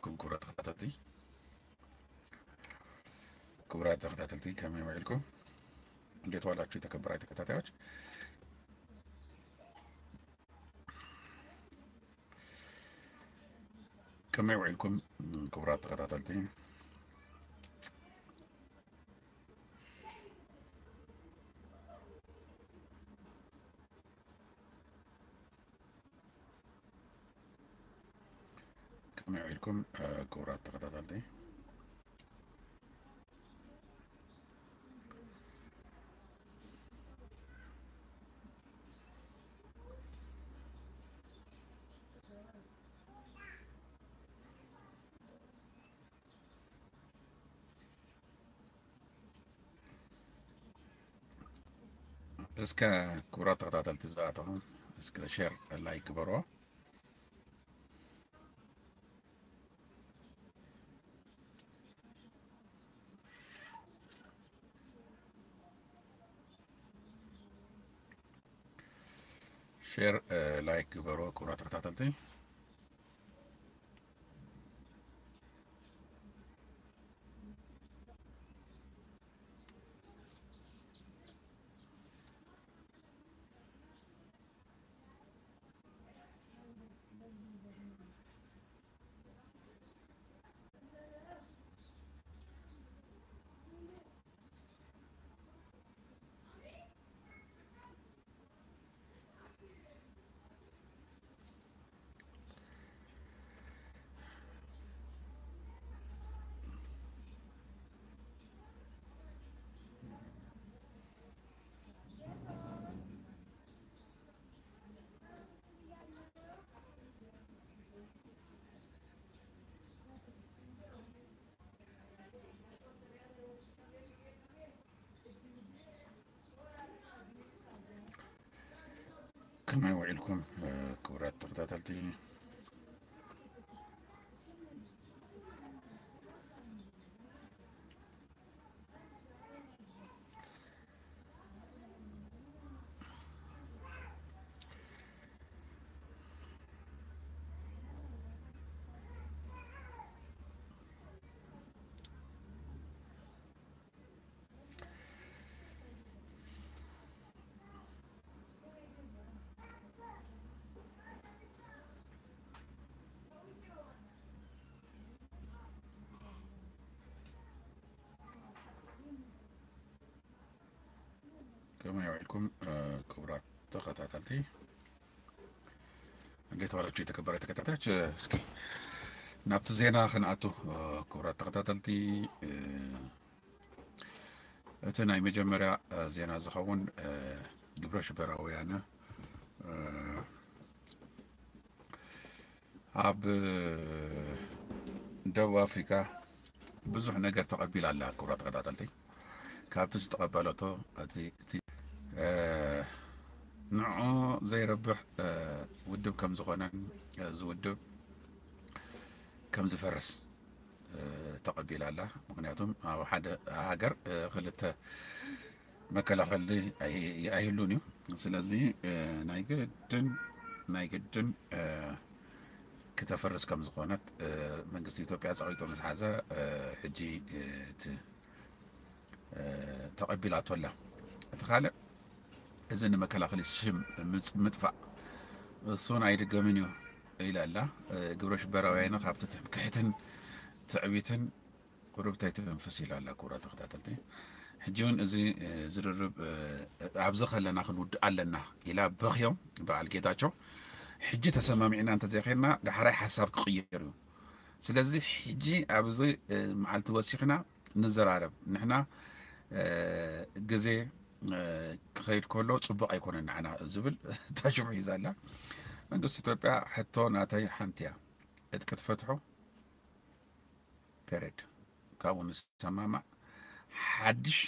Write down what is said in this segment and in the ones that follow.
ውዒልኩም ክቡራት ተኸታተልቲ? ክቡራት ተኸታተልቲ ከመይ ውዒልኩም? እንዴት ዋላችሁ የተከበራችሁ ተከታታዮች? ከመይ ውዒልኩም ክቡራት ተኸታተልቲ? ከመይ ውዒልኩም ክቡራት ተኸታተልቲ? እስከ ክቡራት ተኸታተልቲ ዝኣተኹም እስከ ሼር ላይክ ግበርዎ። ሼር ላይክ ግበርዎ ክቡራት ተኸታተልቲ። ከመይ ውዒልኩም ክቡራት ተኸታተልቲ? ከመይ ውዒልኩም ክቡራት ተኸታተልቲ? እንዴት ዋላችሁ የተከበረ ተከታታዮች? እስኪ ናብቲ ዜና ክንኣቱ ክቡራት ተኸታተልቲ፣ እቲ ናይ መጀመርያ ዜና ዝኸውን ግብረ ሽበራውያን ኣብ ደቡብ ኣፍሪካ ብዙሕ ነገር ተቐቢላ ኣላ። ክቡራት ተኸታተልቲ፣ ካብቲ ዝተቐበለቶ እቲ እቲ ንዑ ዘይረብሕ ውድብ ከም ዝኾነን እዚ ውድብ ከም ዝፈርስ ተቐቢላ ኣላ። ምክንያቱም ኣብ ሓደ ሃገር ክልተ መከላኸሊ ኣይህሉን እዩ። ስለዚ ናይ ግድን ናይ ግድን ክተፍርስ ከም ዝኾነት መንግስቲ ኢትዮጵያ ፀቒጡ ምስ ሓዘ ሕጂ እቲ ተቐቢላቶ ኣላ። እቲ ካልእ እዚ ንመከላኸሊ ሽም ምጥፋእ እሱን ኣይድገምን እዩ ኢላ ኣላ። ግብረ ሽበራውያን ካብቲ ትምክሕትን ትዕቢትን ቁሩብ ተይተንፍስ ኢላ ኣላ። ክቡራት ተኸታተልቲ፣ ሕጂ እውን እዚ ዝርርብ ኣብዚ ከለና ክንውድእ ኣለና ኢላ በኽዮም በዓል ጌታቸው። ሕጂ ተሰማሚዕና እንተዘይኸይድና ዳሕራይ ሓሳብ ክቕየር እዩ። ስለዚ ሕጂ ኣብዚ መዓልቲ ወሲኽና ንዘራረብ። ንሕና ግዜ ክኸይድ ከሎ ፅቡቕ ኣይኮነን ንዓና ዝብል ታሽሙ ሒዛ ኣላ። መንግስቲ ኢትዮጵያ ሕቶ ናተይ ሓንቲ እያ። ዕጥቂ ትፈትሑ ፔሬድ ካብኡ ንሰማማዕ ሓድሽ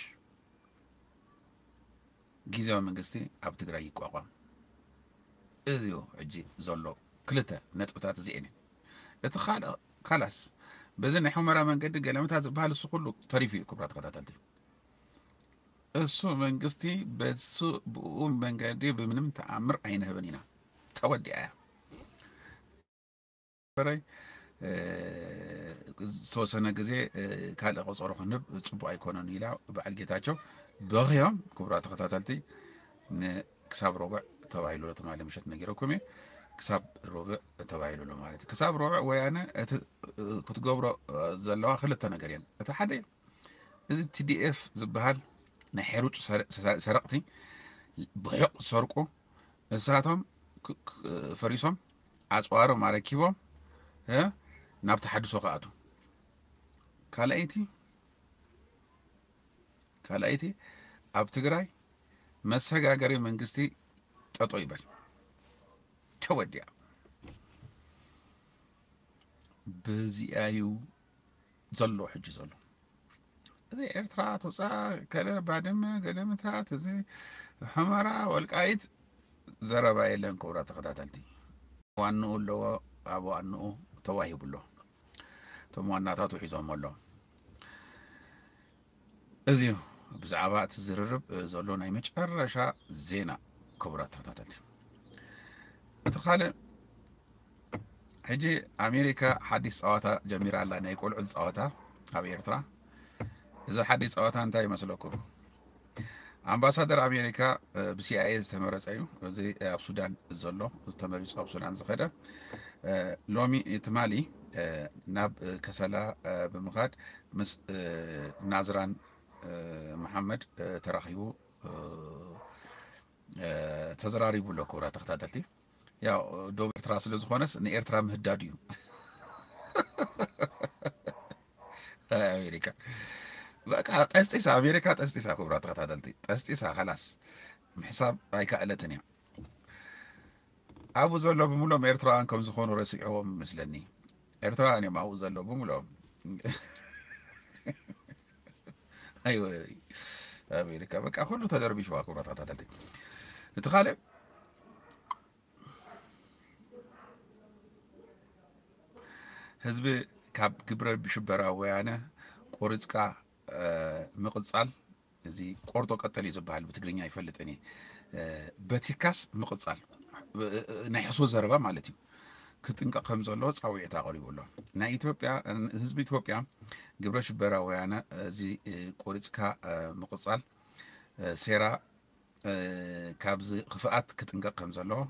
ግዜያዊ መንግስቲ ኣብ ትግራይ ይቋቋም። እዚዮ ሕጂ ዘሎ ክልተ ነጥብታት እዚኤን እየን። እቲ ካልእ ካላስ በዚ ናይ ሑመራ መንገዲ ገለመታ ዝበሃል እሱ ኩሉ ተሪፉ እዩ። ክቡራት ተኸታተልቲ እሱ መንግስቲ በሱ ብኡ መንገዲ ብምንም ተኣምር ኣይንህብን ኢና። ተወዲኣ እያ። በረይ ዝተወሰነ ግዜ ካልእ ቀፀሮ ክንህብ ፅቡቅ ኣይኮነን ኢላ በዓል ጌታቸው በኽዮም። ክቡራት ተኸታተልቲ፣ ክሳብ ሮብዕ ተባሂሉ ትማሊ ምሸት ነጊረኩም እየ። ክሳብ ሮብዕ ተባሂሉ ኣሎ ማለት እዩ። ክሳብ ሮብዕ ወያነ እቲ ክትገብሮ ዘለዋ ክልተ ነገር እየን። እቲ ሓደ እዚ ቲ ዲ ኤፍ ዝበሃል ናይ ሕሩጭ ሰረቕቲ ብሑቕ ዝሰርቁ እሳቶም ፈሪሶም ኣፅዋሮም ኣረኪቦም ናብ ተሓድሶ ክኣቱ። ካልኣይቲ ካልኣይቲ ኣብ ትግራይ መሰጋገሪ መንግስቲ ጠጦ ይበል ተወዲያ። በዚኣዩ ዘሎ ሕጂ ዘሎ እዚ ኤርትራ ትውፃእ ከለ ባድመ ገለምታት እዚ ሑመራ ወልቃይት ዘረባ የለን። ክቡራት ተኸታተልቲ ዋንኡ ኣለዎ ኣብ ዋንኡ ተዋሂቡ ኣሎ። እቶም ዋናታቱ ሒዞሞ ኣሎ። እዚ ብዛዕባ እቲ ዝርርብ ዘሎ ናይ መጨረሻ ዜና ክቡራት ተኸታተልቲ። እቲ ካልእ ሕጂ ኣሜሪካ ሓዲስ ፀዋታ ጀሚራ ኣላ፣ ናይ ቆልዑ ፃወታ ኣብ ኤርትራ። እዚ ሓዲስ ፀዋታ እንታይ ይመስለኩም? ኣምባሳደር ኣሜሪካ ብሲኣይኤ ዝተመረፀ እዩ። እዚ ኣብ ሱዳን ዘሎ ተመሪፁ ኣብ ሱዳን ዝኸደ ሎሚ ትማሊ ናብ ከሰላ ብምኻድ ምስ ናዝራን መሓመድ ተራኺቡ ተዘራሪቡ ኣሎ። ክቡራት ተኸታተልቲ፣ ያው ዶብ ኤርትራ ስለ ዝኾነስ ንኤርትራ ምህዳድ እዩ። ኣሜሪካ በቃ ጠስጢሳ፣ ኣሜሪካ ጠስጢሳ። ክቡራት ተኸታተልቲ፣ ጠስጢሳ። ከላስ ምሕሳብ ኣይከኣለትን እያ። ኣብኡ ዘሎ ብምሎም ኤርትራውያን ከም ዝኾኑ ረሲዕዎም መስለኒ። ኤርትራውያን እዮም ኣብኡ ዘሎ ብምሎም። ኣይወ ኣሜሪካ በቃ ኩሉ ተደርቢሽዋ። ክቡራት ተኸታተልቲ፣ እቲ ካልእ ህዝቢ ካብ ግብረ ሽበራ ወያነ ቆሪፅካ ምቕፃል፣ እዚ ቆርጦ ቀጠል እዩ ዝበሃል ብትግርኛ፣ ይፈልጥን እየ። በቲካስ ምቕፃል ናይ ሕሶ ዘረባ ማለት እዩ። ክጥንቀቕ ከም ዘለዎ ፃውዒት ኣቕሪቡ ኣሎ። ናይ ኢትዮጵያ ህዝቢ ኢትዮጵያ ግብረ ሽበራ ወያነ እዚ ቆሪፅካ ምቕፃል ሴራ ካብዚ ክፍኣት ክጥንቀቕ ከም ዘለዎ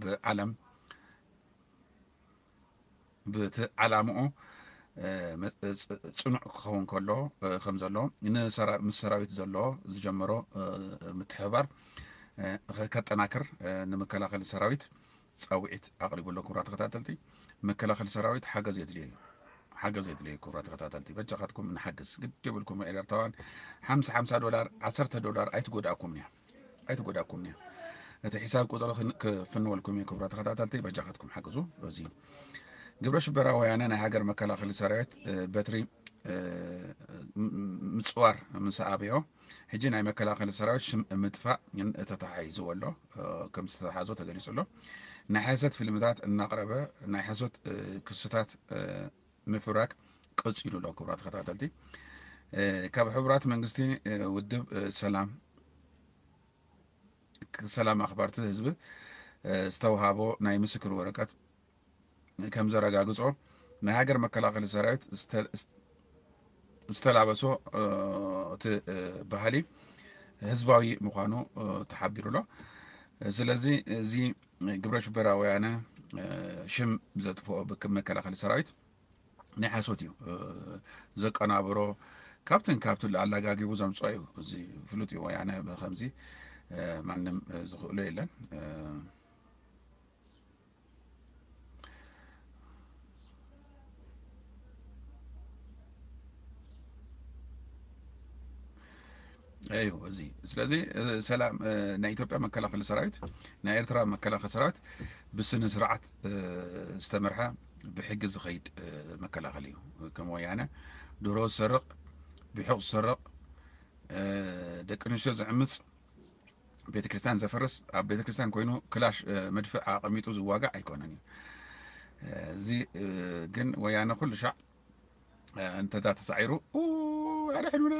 ብዓለም ብቲ ዓላምኡ ጽኑዕ ክኸውን ከሎ ከም ዘሎ ምስ ሰራዊት ዘሎ ዝጀመሮ ምትሕብባር ከጠናክር ንምከላኸሊ ሰራዊት ፃውዒት ኣቕሪቡ ኣሎ። ክቡራት ተኸታተልቲ፣ መከላኸሊ ሰራዊት ሓገዝ የድልዮ እዩ። ሓገዝ የድልዮ እዩ። ክቡራት ተኸታተልቲ፣ በጃኻትኩም ንሓግዝ። ግድ የብልኩም ኤርትራውያን፣ ሓምሳ ሓምሳ ዶላር፣ ዓሰርተ ዶላር ኣይትጎድኣኩም እያ። ኣይትጎዳኩም እያ። እቲ ሒሳብ ቁፅሪ ክፍንወልኩም እየ። ክቡራት ተኸታተልቲ፣ በጃኻትኩም ሓግዙ። በዚ ግብረ ሽበራ ወያነ ናይ ሃገር መከላኸሊ ሰራዊት በትሪ ምፅዋር ምስ ኣበዮ፣ ሕጂ ናይ መከላኸሊ ሰራዊት ሽም ምጥፋእ ተተሓሒዝዎ ኣሎ። ከም ዝተተሓዞ ተገሊፁ ኣሎ። ናይ ሓሰት ፊልምታት እናቕረበ ናይ ሓሶት ክስታት ምፍብራክ ቀፂሉ ኣሎ። ክቡራት ተኸታተልቲ፣ ካብ ሕቡራት መንግስቲ ውድብ ሰላም ሰላም ኣኽባርቲ ህዝቢ ዝተውሃቦ ናይ ምስክር ወረቀት ከም ዘረጋግጾ፣ ናይ ሃገር መከላኸሊ ሰራዊት ዝተላበሶ እቲ ባህሊ ህዝባዊ ምዃኑ ተሓቢሩ ኣሎ። ስለዚ እዚ ግብረ ሽበራ ወያነ ሽም ዘጥፍኦ መከላኸሊ ሰራዊት ናይ ሓሶት እዩ ዘቀናብሮ። ካብትን ካብትን ኣላጋጊቡ ዘምፅኦ እዩ። እዚ ፍሉጥ እዩ። ወያነ ብከምዚ ማንም ዝኽእሎ የለን። እዩ እዚ። ስለዚ ሰላም ናይ ኢትዮጵያ መከላኸሊ ሰራዊት፣ ናይ ኤርትራ መከላኸሊ ሰራዊት ብስነ ስርዓት ዝተመርሐ ብሕጊ ዝኸይድ መከላኸሊ እዩ። ከም ወያነ ድሮ ዝሰርቕ፣ ብሑቕ ዝሰርቕ፣ ደቂ ኣንስትዮ ዝዕምፅ፣ ቤተክርስትያን ዘፍርስ፣ ኣብ ቤተክርስትያን ኮይኑ ክላሽ መድፍዕ ኣቐሚጡ ዝዋጋእ ኣይኮነን እዩ። እዚ ግን ወያነ ኩሉ ሻዕ እንተዳ ተሳዒሩ ኣድሕኑና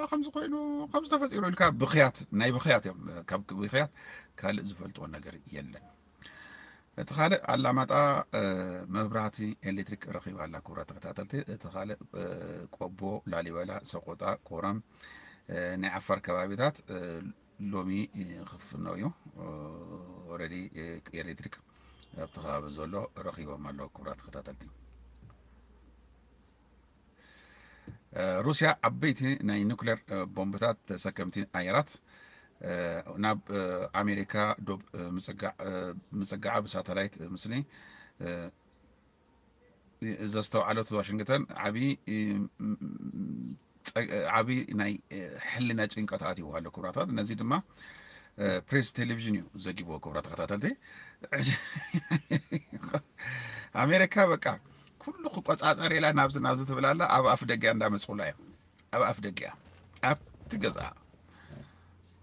ከምዚ ኮይኑ ከምዚ ተፈጢሩ ኢልካ ብኽያት፣ ናይ ብኽያት እዮም። ካብ ብኽያት ካልእ ዝፈልጥዎ ነገር የለን። እቲ ካልእ ኣላማጣ መብራህቲ ኤሌክትሪክ ረኺባ ኣላ። ክቡራት ተኸታተልቲ፣ እቲ ካልእ ቆቦ፣ ላሊበላ፣ ሰቆጣ፣ ኮረም፣ ናይ ዓፋር ከባቢታት ሎሚ ክፍኖ እዩ። ኦረዲ ኤሌክትሪክ ኣብቲ ከባቢ ዘሎ ረኺቦም ኣለዉ። ክቡራት ተኸታተልቲ፣ ሩስያ ዓበይቲ ናይ ኑክሌር ቦምብታት ተሰከምቲ ኣየራት ናብ ኣሜሪካ ዶብ ምጽጋዓ ብሳተላይት ምስሊ ዘስተውዓለት ዋሽንግተን ዓቢ ዓቢ ናይ ሕልና ጭንቀት ኣትይዎ ኣሎ። ክቡራታት፣ ነዚ ድማ ፕሬስ ቴሌቪዥን እዩ ዘጊብዎ። ክቡራት ተኸታተልቲ፣ ኣሜሪካ በቃ ኩሉ ክቆጻጸር ኢላ ናብዚ ናብዚ ትብል ኣላ። ኣብ ኣፍ ደገ እንዳመጽኡላ እዮም። ኣብ ኣፍ ደገ ኣብቲ ገዛ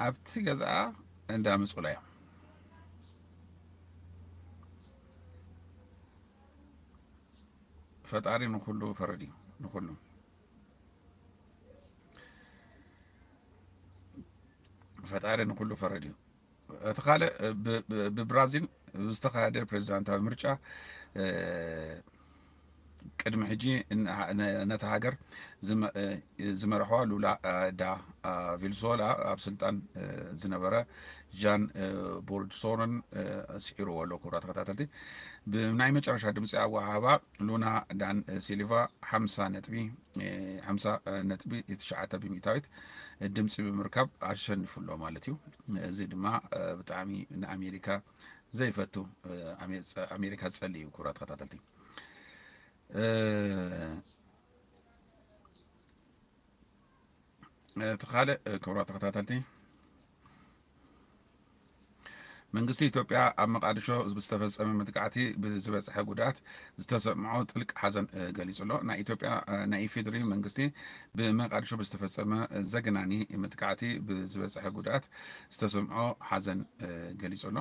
ኣብቲ ገዛ እንዳመጽኡላ እዮም። ፈጣሪ ንኩሉ ፈረድ እዩ። ንኩሉ ፈጣሪ ንኩሉ ፈረድ እዩ። እቲ ካልእ ብብራዚል ዝተኻየደ ፕሬዚዳንታዊ ምርጫ ቅድሚ ሕጂ ነታ ሃገር ዝመርሖ ሉላ ዳ ቪልሶላ ኣብ ስልጣን ዝነበረ ጃን ቦልሶናሮን ስዒርዎ ኣሎ። ክቡራት ተኸታተልቲ፣ ብናይ መጨረሻ ድምፂ ኣወሃህባ ሉና ዳን ሲልቫ ሓምሳ ነጥቢ ሓምሳ ነጥቢ ትሽዓተ ብሚእታዊት ድምፂ ብምርካብ ኣሸኒፉ ኣሎ ማለት እዩ። እዚ ድማ ብጣዕሚ ንኣሜሪካ ዘይፈቱ፣ ኣሜሪካ ዝፀሊ እዩ። ክቡራት ተኸታተልቲ፣ እቲ ካልእ፣ ክቡራት ተኸታተልቲ፣ መንግስቲ ኢትዮጵያ ኣብ መቃድሾ ብዝተፈጸመ መጥቃዕቲ ብዝበጽሐ ጉድኣት ዝተሰምዖ ጥልቅ ሓዘን ገሊጹ ኣሎ። ናይ ኢትዮጵያ፣ ናይ ኢፌዴሪ መንግስቲ ብመቃድሾ ብዝተፈጸመ ዘግናኒ መጥቃዕቲ ብዝበጽሐ ጉድኣት ዝተሰምዖ ሓዘን ገሊጹ ኣሎ።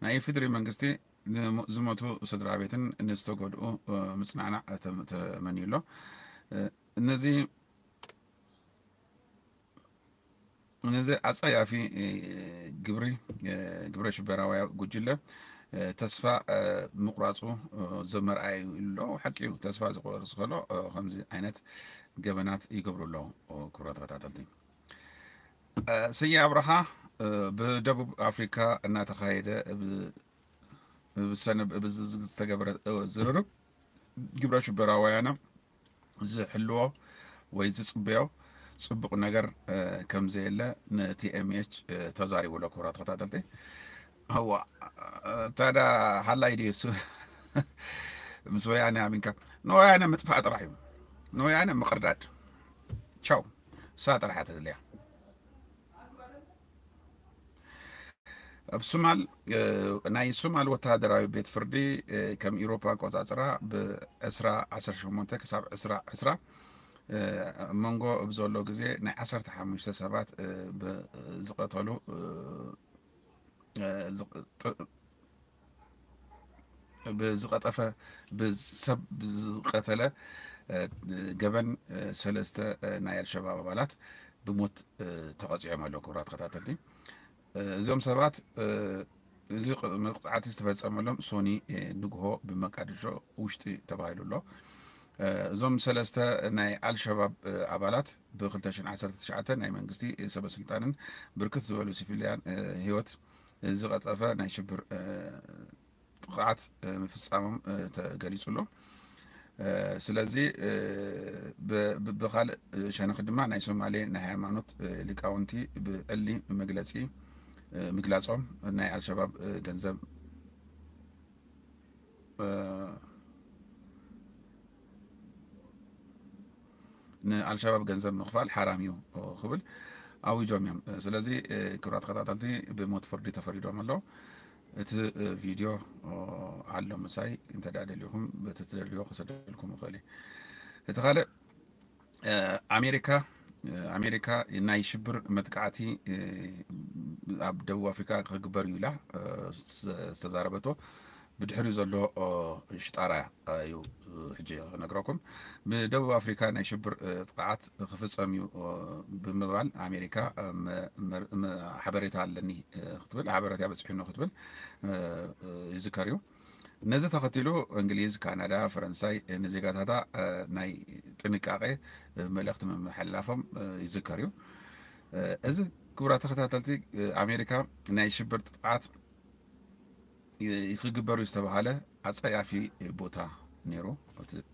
ናይ ኢፌዴሪ መንግስቲ ዝሞቱ ስድራ ቤትን ንዝተጎድኡ ምጽናዕናዕ ተመንዩ ኣሎ። እነዚ ነዚ ኣጸያፊ ግብሪ፣ ግብረ ሽበራዊ ጉጅለ ተስፋ ምቑራጹ ዘመርኣዩ ኣሎ። ሓቂ እዩ፣ ተስፋ ዝቆርጽ ከሎ ከምዚ ዓይነት ገበናት ይገብሩ ኣለዉ። ክቡራት ተኸታተልቲ፣ ስየ ኣብርሃ ብደቡብ ኣፍሪካ እናተኻየደ ዝተገበረ ዝርርብ ግብረ ሽበራውያነ ዝሕልዎ ወይ ዝጽበዮ ጽቡቕ ነገር ከም ዘየለ ንቲኤምኤች ተዛሪቡ ኣሎ። ክቡራት ተኸታተልቲ፣ እዋ፣ ታዳ ሃላይ ድዩ እሱ? ምስ ወያነ ኣሚንካ ንወያነ ምጥፋእ ጥራሕ እዩ። ንወያነ ምቕርዳድ፣ ቻው፣ እሳ ጥራሕ እያ ተድልያ። ኣብ ሱማል፣ ናይ ሱማል ወተሃደራዊ ቤት ፍርዲ ከም ኢሮፓ ኣቆጻጽራ ብ ዕስራ ዓሰርተ ሸሞንተ ክሳብ ዕስራ ዕስራ ኣብ መንጎ ኣብ ዘሎ ግዜ ናይ ዓሰርተ ሓሙሽተ ሰባት ዝቐተሉ ብዝቐጠፈ ብሰብ ዝቐተለ ገበን ሰለስተ ናይ ኣልሸባብ ኣባላት ብሞት ተቐፂዖም ኣለዉ። ክቡራት ተኸታተልቲ፣ እዚኦም ሰባት እዚ መቕፃዕቲ ዝተፈፀመሎም ሶኒ ንግሆ ብመቃድሾ ውሽጢ ተባሂሉ ኣሎ። እዞም ሰለስተ ናይ ኣልሸባብ ኣባላት ብ ክልተ ሽሕን ዓሰርተ ትሽዓተ ናይ መንግስቲ ሰበ ስልጣንን ብርክት ዝበሉ ሲቪልያን ህይወት ዝቐጠፈ ናይ ሽብር ጥቕዓት ምፍፃሞም ተገሊፁ ኣሎ። ስለዚ ብካልእ ሸነኽ ድማ ናይ ሶማሌ ናይ ሃይማኖት ሊቃውንቲ ብዕሊ መግለፂ ምግላፆም ናይ ኣልሸባብ ገንዘብ ንኣልሸባብ ገንዘብ ምኽፋል ሓራም እዩ ክብል ኣዊጆም እዮም። ስለዚ ክቡራት ተኸታተልቲ ብሞት ፍርዲ ተፈሪዶም ኣለዉ። እቲ ቪድዮ ኣሎ ምሳይ፣ እንተ ደኣ ደሊኹም በቲ ትደልዮ ክሰደልኩም ይኽእል እየ። እቲ ካልእ ኣሜሪካ ኣሜሪካ ናይ ሽብር መጥቃዕቲ ኣብ ደቡብ ኣፍሪካ ክግበር እዩ ኢላ ዝተዛረበቶ ብድሕሪኡ ዘሎ ሽጣራ እዩ ሕጂ ክነግረኩም። ብደቡብ ኣፍሪካ ናይ ሽብር ጥቕዓት ክፍፀም እዩ ብምባል ኣሜሪካ ሓበሬታ ኣለኒ ክትብል፣ ሓበሬታ በፂሑኒ ክትብል ይዝከር እዩ። ነዚ ተኸቲሉ እንግሊዝ፣ ካናዳ፣ ፈረንሳይ ንዜጋታታ ናይ ጥንቃቄ መልእኽቲ ምምሕልላፎም ይዝከር እዩ። እዚ ክቡራት ተኸታተልቲ፣ ኣሜሪካ ናይ ሽብር ጥቕዓት ክግበሩ ዝተባሃለ ኣጸያፊ ቦታ ነይሩ።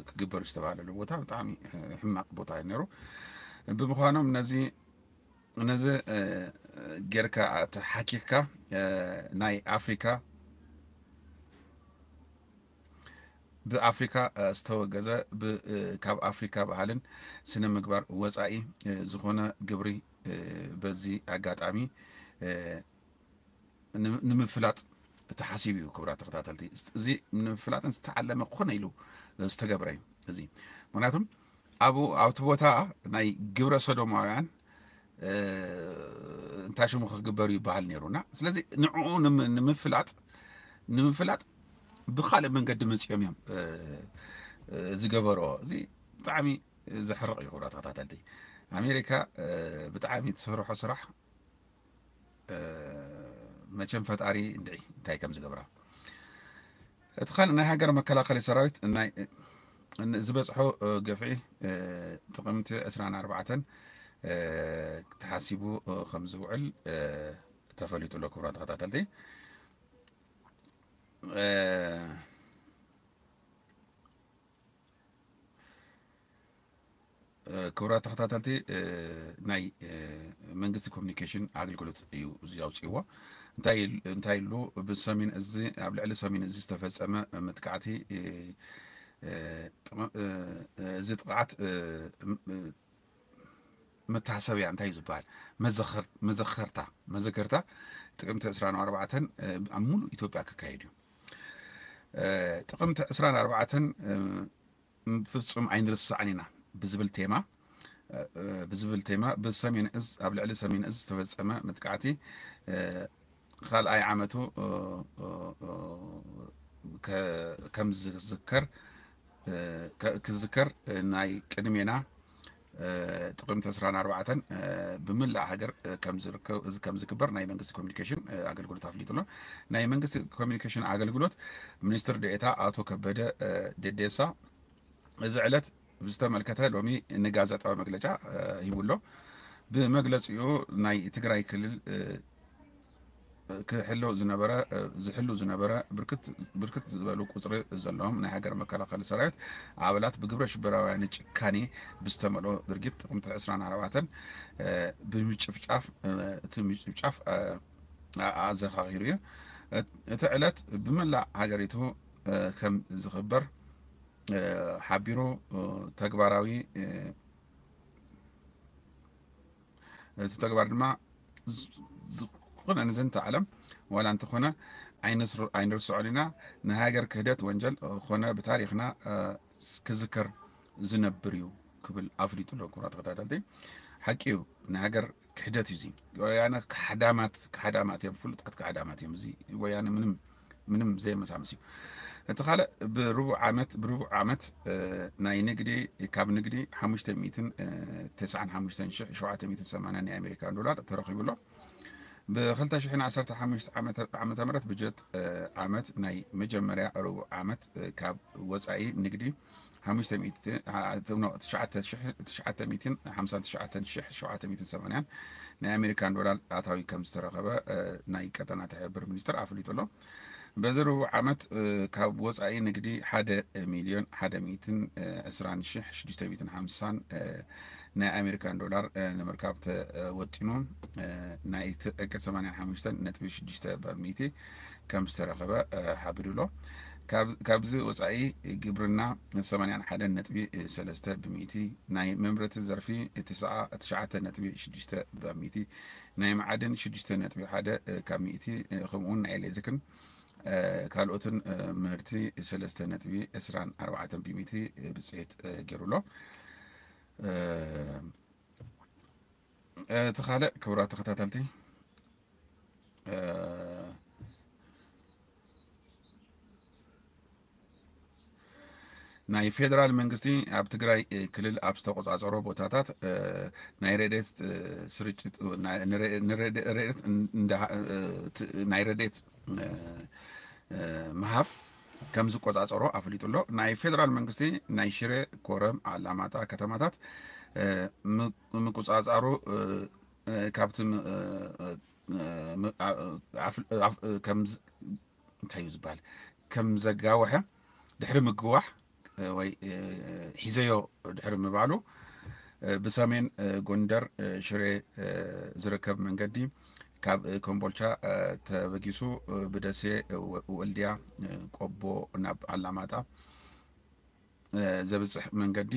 ክግበሩ ዝተባሃለሉ ቦታ ብጣዕሚ ሕማቕ ቦታ ነይሩ። ብምዃኖም ነዚ ነዚ ጌርካ ተሓኪኽካ ናይ ኣፍሪካ ብኣፍሪካ ዝተወገዘ ካብ ኣፍሪካ ባህልን ስነ ምግባር ወፃኢ ዝኾነ ግብሪ በዚ ኣጋጣሚ ንምፍላጥ ተሓሲቡ እዩ። ክቡራት ተኸታተልቲ፣ እዚ ንምፍላጥን ዝተዓለመ ኮነ ኢሉ ዝተገብረ እዩ። እዚ ምክንያቱም ኣብኡ ኣብቲ ቦታ ናይ ግብረ ሰዶማውያን እንታይ ሽሙ ክግበር ይበሃል ነይሩና። ስለዚ ንዕኡ ንምፍላጥ ንምፍላጥ ብካልእ መንገዲ መፂኦም እዮም ዝገበሮ። እዚ ብጣዕሚ ዘሕርቕ እዩ። ክቡራት ተኸታተልቲ፣ ኣሜሪካ ብጣዕሚ ትሰርሖ ስራሕ መቸም ፈጣሪ እንድዒ እንታይ ከም ዝገብራ። እቲ ካልእ ናይ ሃገር መከላኸሊ ሰራዊት ዝበፅሖ ግፍዒ ጥቕምቲ ዕስራን ኣርባዕተን ተሓሲቡ ከም ዝውዕል ተፈሊጡ ኣሎ። ክቡራት ተኸታተልቲ፣ ክቡራት ተኸታተልቲ፣ ናይ መንግስቲ ኮሚኒኬሽን ኣገልግሎት እዩ እዚ ኣውፅእዎ። እንታይ ኢሉ? ብሰሜን እዚ ኣብ ልዕሊ ሰሜን እዚ ዝተፈፀመ መጥቃዕቲ፣ እዚ ጥቕዓት መታሰብያ እንታይ እዩ ዝበሃል? መዘኸርታ መዘከርታ ጥቅምቲ ዕስራን ኣርባዕተን ኣብ ሙሉእ ኢትዮጵያ ክካየድ እዩ። ጥቅምቲ ዕስራን ኣርባዕተን ፍፁም ኣይንርስዓን ኢና ብዝብል ቴማ ብዝብል ቴማ ብሰሜን እዝ ኣብ ልዕሊ ሰሜን እዝ ዝተፈፀመ መጥቃዕቲ ካልኣይ ዓመቱ ከም ዝዝከር ክዝከር ናይ ቅድሜና ጥቅምቲ ዕስራን ኣርባዕተን ብምላእ ሃገር ከም ዝክበር ናይ መንግስቲ ኮሚኒኬሽን ኣገልግሎት ኣፍሊጡ ኣሎ። ናይ መንግስቲ ኮሚኒኬሽን ኣገልግሎት ሚኒስትር ዴኤታ ኣቶ ከበደ ደዴሳ እዚ ዕለት ብዝተመልከተ ሎሚ ንጋዜጣዊ መግለጫ ሂቡ ኣሎ። ብመግለፂኡ ናይ ትግራይ ክልል ክሕሎ ዝነበረ ዝሕሉ ዝነበረ ብርክት ዝበሉ ቁፅሪ ዘለዎም ናይ ሃገር መከላኸሊ ሰራዊት ኣባላት ብግብረ ሽበራውያን ጭካኔ ብዝተመልኦ ድርጊት ጥቅምቲ ዕስራን ኣርባዕተን ብምጭፍጫፍ እቲ ምጭፍጫፍ ኣዘኻኺሩ እዩ። እቲ ዕለት ብመላእ ሃገሪቱ ከም ዝኽበር ሓቢሩ ተግባራዊ እቲ ተግባር ድማ ዝኾነ ንዘንተ ዓለም ዋላ እንተኾነ ኣይንርስዖን ኢና። ንሃገር ክህደት ወንጀል ኾነ ብታሪኽና ክዝከር ዝነብር እዩ ክብል ኣፍሊጡ ኣሎ። ክቡራት ተኸታተልቲ፣ ሓቂ እዩ፣ ንሃገር ክሕደት እዩ። እዚ ወያነ ካሕዳማት ካሕዳማት እዮም፣ ፍሉጣት ካሕዳማት እዮም። እዚ ወያነ ምንም ምንም ዘየመሳምስ እዩ። እቲ ካልእ ብርቡዕ ዓመት ብርቡዕ ዓመት ናይ ንግዲ ካብ ንግዲ ሓሙሽተ ሚእትን ተስዓን ሓሙሽተን ሽሕ ሸውዓተ ሚእትን ሰማንያን ናይ ኣሜሪካን ዶላር ተረኺቡ ኣሎ። ብ ክልተ ሽሕን ዓሰርተ ሓሙሽተ ዓመተ ምህረት ብጀት ዓመት ናይ መጀመርያ ርቡዕ ዓመት ካብ ወፃኢ ንግዲ ሓሙሽተ ሚእቲ ትሽዓተ ሚእትን ሓምሳን ትሽዓተን ሽሕ ሸውዓተ ሚእትን ሰማንያን ናይ ኣሜሪካን ዶላር ኣታዊ ከም ዝተረኸበ ናይ ቀጠና ትሕብር ሚኒስትር ኣፍሊጡ ኣሎ። በዚ ርቡዕ ዓመት ካብ ወፃኢ ንግዲ ሓደ ሚልዮን ሓደ ሚእትን ዕስራን ሽሕ ሽዱሽተ ሚእትን ሓምሳን ናይ ኣሜሪካን ዶላር ንምርካብ ተወጢኑ ናይ እቲ ዕቅድ ሰማንያን ሓሙሽተን ነጥቢ ሽዱሽተ በሚእቲ ከም ዝተረኸበ ሓቢሩ ኣሎ። ካብዚ ወፃኢ ግብርና ሰማንያን ሓደን ነጥቢ ሰለስተ ብሚእቲ፣ ናይ መምረቲ ዘርፊ ትሽዓተ ነጥቢ ሽዱሽተ በሚእቲ፣ ናይ መዓድን ሽዱሽተ ነጥቢ ሓደ ካብ ሚእቲ፣ ከምኡውን ናይ ኤሌክትሪክን ካልኦትን ምህርቲ ሰለስተ ነጥቢ ዕስራን ኣርባዕተን ብሚእቲ ብፅሒት ገይሩ ኣሎ። እቲ ካልእ ክቡራት ተኸታተልቲ ናይ ፌደራል መንግስቲ ኣብ ትግራይ ክልል ኣብ ዝተቆፃፀሮ ቦታታት ናይ ረድኤት ስርጭት ናይ ረድኤት ምሃብ ከም ዝቆጻጸሮ ኣፍሊጡ ኣሎ። ናይ ፌደራል መንግስቲ ናይ ሽረ፣ ኮረም፣ ኣላማጣ ከተማታት ምቁጻጻሩ ካብቲ እንታይ እዩ ዝበሃል፣ ከም ዘጋወሐ ድሕሪ ምግዋሕ ወይ ሒዘዮ ድሕሪ ምባሉ፣ ብሰሜን ጎንደር ሽሬ ዝርከብ መንገዲ ካብ ኮምቦልቻ ተበጊሱ ብደሴ፣ ወልዲያ፣ ቆቦ ናብ ኣላማጣ ዘብፅሕ መንገዲ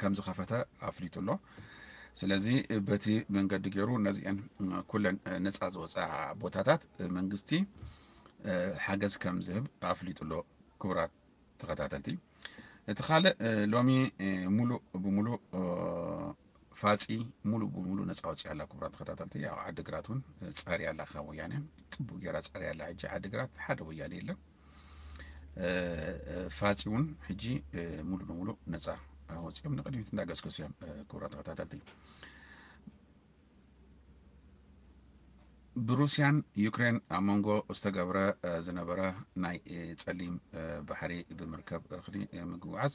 ከም ዝኸፈተ ኣፍሊጡ ኣሎ። ስለዚ በቲ መንገዲ ገይሩ ነዚአን ኩለን ነፃ ዝወፅኣ ቦታታት መንግስቲ ሓገዝ ከም ዝህብ ኣፍሊጡ ኣሎ። ክቡራት ተኸታተልቲ፣ እቲ ካልእ ሎሚ ሙሉእ ብሙሉእ ፋፂ ሙሉእ ብሙሉእ ነፃ ወፂኣ ኣላ። ክቡራት ተኸታተልቲ፣ ያው ዓዲግራት እውን ፀርያ ኣላ ካብ ወያነ፣ ፅቡቅ ገይራ ፀርያ ኣላ። ሕጂ ዓዲግራት ሓደ ወያነ የለን። ፋፂ እውን ሕጂ ሙሉ ንሙሉ ነፃ ወፂኦም ንቅድሚት እንዳገስገሱ እዮም። ክቡራት ተኸታተልቲ፣ ብሩስያን ዩክሬን ኣብ መንጎ ዝተገብረ ዝነበረ ናይ ፀሊም ባሕሪ ብምርከብ እኽሊ ምግውዓዝ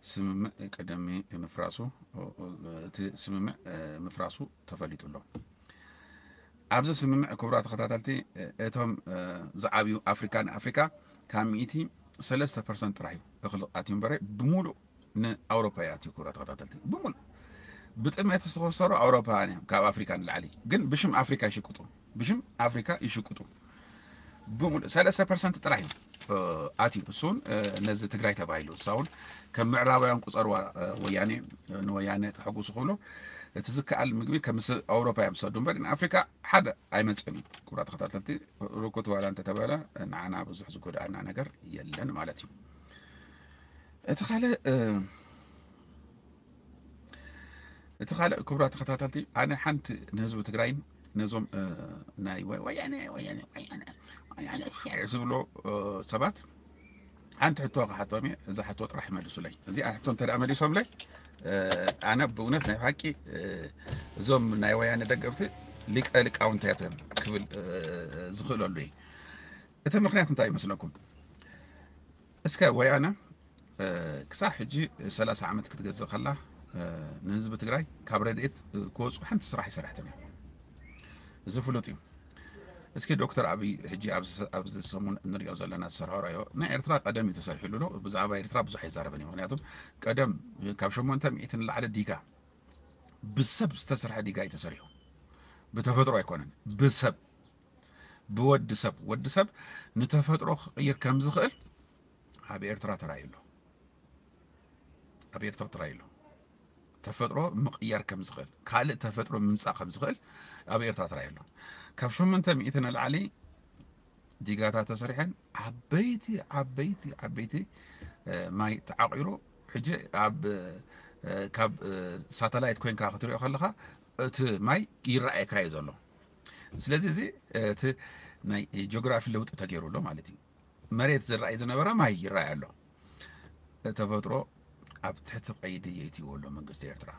ስምምዕ ቅድሚ ምፍራሱ፣ እቲ ስምምዕ ምፍራሱ ተፈሊጡ ኣሎ። ኣብዚ ስምምዕ፣ ክቡራት ተኸታተልቲ፣ እቶም ዝዓብዩ ኣፍሪካ ንኣፍሪካ ካብ ሚእቲ ሰለስተ ፐርሰንት ጥራሕ እዩ እኽሊ ኣትዩ እምበረ ብሙሉእ ንኣውሮፓ ይኣትዩ። ክቡራት ተኸታተልቲ፣ ብሙሉእ ብጥሜት ዝተኸሰሩ ኣውሮፓውያን እዮም፣ ካብ ኣፍሪካ ንላዕሊ ግን ብሽም ኣፍሪካ ይሽቅጡ፣ ብሽም ኣፍሪካ ይሽቅጡ። ብሙሉእ ሰለስተ ፐርሰንት ጥራሕ እዩ ኣትዩ። እሱ እውን ነዚ ትግራይ ተባሂሉ፣ እሳ እውን ከም ምዕራባውያን ቁፀርዋ፣ ወያኔ ንወያነ ከሐጉሱ ክብሉ እቲ ዝከኣል ምግቢ ከም ምስ ኣውሮፓ እዮም ዝሰዱ እምበር ንኣፍሪካ ሓደ ኣይመፅእን እዩ። ክቡራት ተኸታተልቲ፣ ርኩት ዋላ እንተተባለ ንዓና ብዙሕ ዝጎድኣና ነገር የለን ማለት እዩ። እቲ ካልእ እቲ ካልእ ክቡራት ተኸታተልቲ፣ ኣነ ሓንቲ ንህዝቢ ትግራይን ነዞም ናይ ወያነ ወያነ ወያነ ወያነ ዝብሎ ሰባት ሓንቲ ሕቶ ክሓቶም እየ። እዛ ሕቶ ጥራሕ ይመልሱለይ። እዚኣ ሕቶ እንተ ደኣ መሊሶምለይ ኣነ ብእውነት ናይ ሓቂ እዞም ናይ ወያነ ደገፍቲ ሊቀ ሊቃውንት እያ ክብል ዝኽእለሉ እየ። እቲ ምኽንያት እንታይ ይመስለኩም? እስከ ወያነ ክሳብ ሕጂ ሰላሳ ዓመት ክትገዝእ ከላ ንህዝቢ ትግራይ ካብ ረድኤት ክወፁ ሓንቲ ስራሕ ይሰርሐትን እያ። እዚ ፍሉጥ እዩ። እስኪ ዶክተር ኣብይ ሕጂ ኣብዚ ሰሙን እንሪኦ ዘለና ዝሰርሖ ራዮ ናይ ኤርትራ ቀደም እዩ ተሰሪሕሉ ኣሎ። ብዛዕባ ኤርትራ ብዙሕ ኣይዛረብን እዩ። ምክንያቱም ቀደም ካብ ሸሞንተ ሚእቲ ንላዕሊ ዲጋ ብሰብ ዝተሰርሐ ዲጋ እዩ ተሰሪሑ። ብተፈጥሮ ኣይኮነን፣ ብሰብ፣ ብወዲ ሰብ። ወዲ ሰብ ንተፈጥሮ ክቕይር ከም ዝኽእል ኣብ ኤርትራ ተራእዩ ኣሎ። ኣብ ኤርትራ ተራእዩ ኣሎ። ተፈጥሮ ምቕያር ከም ዝኽእል፣ ካልእ ተፈጥሮ ምምጻእ ከም ዝኽእል ኣብ ኤርትራ ተራእዩ ኣሎ። ካብ ሸሞንተ ሚእቲ ንላዕሊ ዲጋታት ተሰሪሐን ዓበይቲ ዓበይቲ ዓበይቲ ማይ ተዓቂሩ ሕጂ ኣብ ካብ ሳተላይት ኮይንካ ክትሪኦ ከለኻ እቲ ማይ ይረኣየካ እዩ ዘሎ። ስለዚ እዚ እቲ ናይ ጂኦግራፊ ለውጢ ተገይሩ ኣሎ ማለት እዩ። መሬት ዝረኣይ ዝነበረ ማይ ይረኣይ ኣሎ። ተፈጥሮ ኣብ ትሕቲ ቀይዲ የእትይዎ ኣሎ መንግስቲ ኤርትራ።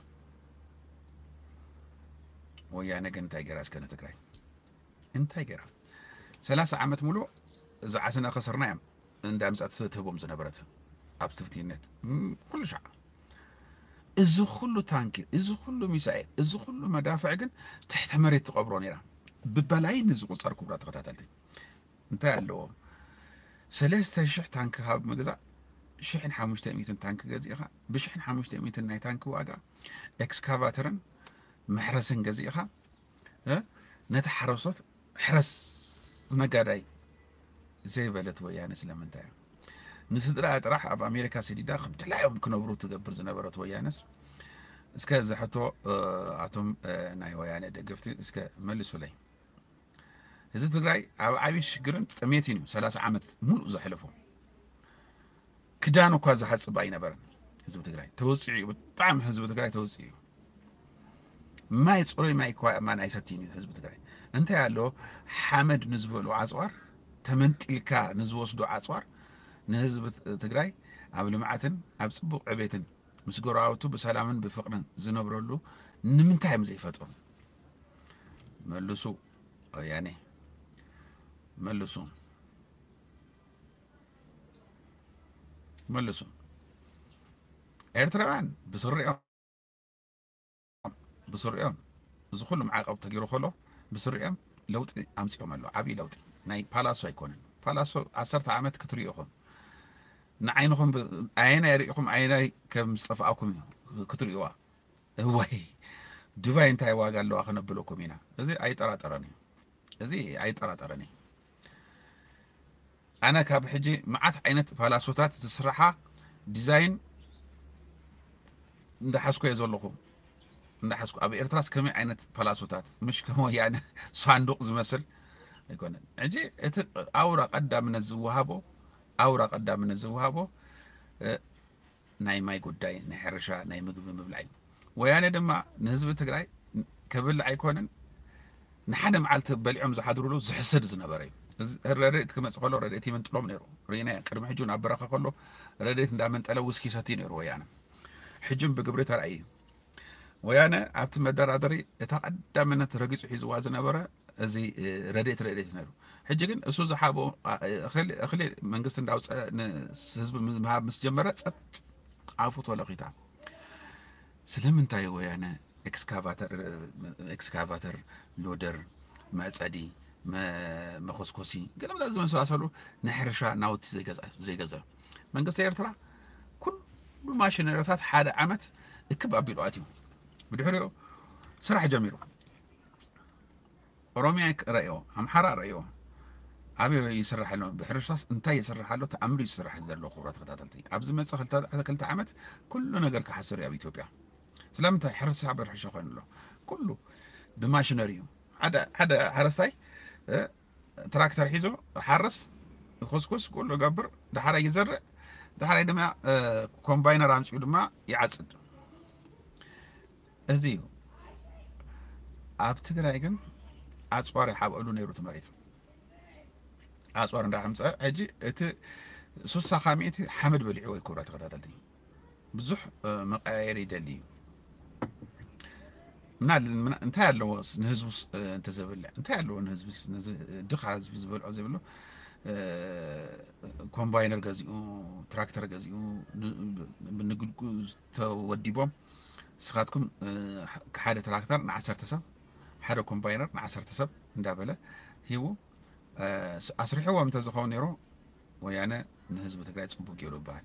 ወያነ ግን እንታይ ገይራ እስከ ንትግራይ እንታይ ገይራ? ሰላሳ ዓመት ሙሉእ ዝዓስና ከሰርና እዮም እንዳ ምጻት ትህቦም ዝነበረት ኣብ ትፍትይነት ኩሉ ሻዕ። እዚ ኩሉ ታንኪ፣ እዚ ኩሉ ሚሳኤል፣ እዚ ኩሉ መዳፍዕ ግን ትሕቲ መሬት ትቐብሮ ነይራ። ብበላይን ዝቁጸር ክቡራት ተኸታተልቲ እንታይ ኣለዎ? ሰለስተ ሽሕ ታንኪ ካብ ምግዛእ ሽሕን ሓሙሽተ ሚእትን ታንኪ ገዚእኻ ብሽሕን ሓሙሽተ ሚእትን ናይ ታንኪ ዋጋ ኤክስካቫተርን መሕረስን ገዚእኻ ነቲ ሓረስቶት ሕረስ ዝነጋዳይ ዘይበለት ወያነ ስለምንታይ እያ? ንስድራ ጥራሕ ኣብ ኣሜሪካ ሰዲዳ ከም ድላዮም ክነብሩ ትገብር ዝነበረት ወያነስ እስከ እዚ ሕቶ ኣቶም ናይ ወያነ ደገፍቲ እስከ መልሱለይ። ህዝቢ ትግራይ ኣብ ዓብዪ ሽግርን ጥሜትን እዩ ሰላሳ ዓመት ሙሉእ ዘሕለፎ። ክዳን እኳ ዝሓፅብ ኣይነበረን ህዝቢ ትግራይ። ተወፂዑ እዩ፣ ብጣዕሚ ህዝቢ ትግራይ ተወፂዑ እዩ። ማይ፣ ፅሩይ ማይ እኳ ማን ኣይሰትይን እዩ ህዝቢ ትግራይ። እንታይ ኣሎ? ሓመድ ንዝበሉ ኣፅዋር፣ ተመንጢልካ ንዝወስዱ ኣፅዋር ንህዝቢ ትግራይ ኣብ ልምዓትን ኣብ ፅቡቕ ዕቤትን ምስ ጎረባብቱ ብሰላምን ብፍቕርን ዝነብረሉ ንምንታይ እዮም ዘይፈጥሩ? መልሱ ወያኔ መልሱ። መልሱ። ኤርትራውያን ብስሪኦም ብስሪኦም እዚ ኩሉ ማዕቀብ ተገይሩ ከሎ ብስሪኦም ለውጢ ኣምፂኦም ኣለዉ። ዓብዪ ለውጢ ናይ ፓላሶ ኣይኮነን። ፓላሶ ዓሰርተ ዓመት ክትሪኡ ኢኹም። ንዓይንኹም ብ- ኣየናይ ርኢኹም ኣየናይ ከም ዝጠፍኣኩም እዩ ክትሪእዋ። እዋይ ዱባይ እንታይ ዋጋ ኣለዋ ክነብለኩም ኢና። እዚ ኣይጠራጠረን እዩ። እዚ ኣይጠራጠረን እዩ። ኣነ ካብ ሕጂ መዓት ዓይነት ፓላሶታት ዝስራሓ ዲዛይን እንዳሓዝኩ እየ ዘለኹ። እንዳሓዝኩ ኣብ ኤርትራስ ከመይ ዓይነት ፓላሶታት ምሽ ከም ወያነ ሳንዱቕ ዝመስል ኣይኮነን። ሕጂ እቲ ኣውራ ቀዳምነት ዝወሃቦ ኣውራ ቀዳምነት ዝወሃቦ እ፣ ናይ ማይ ጉዳይ፣ ናይ ሕርሻ፣ ናይ ምግቢ ምብላዕ እዩ። ወያነ ድማ ንህዝቢ ትግራይ ከብልዕ ኣይኮነን ንሓደ መዓልቲ በሊዖም ዝሓድሩሉ ዝሕስድ ዝነበረ እዩ። እዚ ረድኤት ክመፅእ ከሎ ረድኤት ይምንጥሎም ነይሩ። ርኢና ቅድሚ ሕጂ እውን ኣብ በረኻ ከሎ ረድኤት እንዳመንጠለ ውስኪ ሰትዩ ነይሩ ወያነ። ሕጂ እውን ብግብሪ ተራእዩ እዩ። ወያነ ኣብቲ መደራደሪ እታ ቀዳምነት ረጊፁ ሒዝዋ ዝነበረ እዚ እ፣ ረድኤት ረድኤት ነይሩ። ሕጂ ግን እሱ ዝሓቦ ኣ- እኽሊ እኽሊ መንግስቲ እንዳውፀ ንህዝቢ ምሃብ ምስ ጀመረ ፀጥ ኣፉ ተለኺታ። ስለምንታይ ወያነ ኤክስካቫተር ኤክስካቫተር ሎደር መዕፀዲ መ- መኾስኮሲ ገለመለ ዝመሳሰሉ ናይ ሕርሻ ናውቲ ዘይገዝኣ ዘይገዝኣ መንግስቲ ኤርትራ ኩሉ ማሽነሪታት ሓደ ዓመት እክብ ኣቢሉ ኣትዩ ብድሕሪኡ ስራሕ ጀሚሩ ኦሮሚያ ረእዮ ኣምሓራ ረእዮ ኣበይ ይስራሕ ኣሎ ብሕርሻስ እንታይ ይስራሕ ኣሎ ተኣምር ይስራሕ ዘሎ ክቡራት ተከታተልቲ ኣብዚ መፀ ክልተ ዓመት ኩሉ ነገር ክሓስር እዩ ኣብ ኢትዮጵያ ስለምንታይ ሕርሻ ብሕርሻ ኮይኑ ኣሎ ኩሉ ብማሽነሪ እዩ ሓደ ሓደ ሓረስታይ ትራክተር ሒዞ ሓርስ ይኮስኩስ ኩሉ ገብር ዳሓራይ ይዘርእ ዳሓራይ ድማ ኮምባይነር ኣምፅኡ ድማ ይዓፅድ እዚ እዩ ኣብ ትግራይ ግን ኣፅዋር ይሓብአሉ ነይሩ እቲ መሬት ኣፅዋር እንዳሓምፀ ሕጂ እቲ ሱሳ ካብ ሚእቲ ሓመድ በሊዕዎ ክቡራት ተከታተልቲ ብዙሕ መቀያየሪ ይደሊ እዩ ምና እንታይ ኣለዎ ንህዝቡስ እንተዘብልዕ እንታይ ኣለዎ ንህዝብስ ድኻ ህዝቢ ዝበልዖ ዘይብሉ ኮምባይነር ገዚኡ ትራክተር ገዚኡ ንግድጉ ተወዲቦም ንስኻትኩም ሓደ ትራክተር ንዓሰርተ ሰብ ሓደ ኮምባይነር ንዓሰርተ ሰብ እንዳበለ ሂቡ ኣስሪሕዎም እንተዝኸውን ነይሩ ወያነ ንህዝቢ ትግራይ ፅቡቅ ገይሩ ይበሃል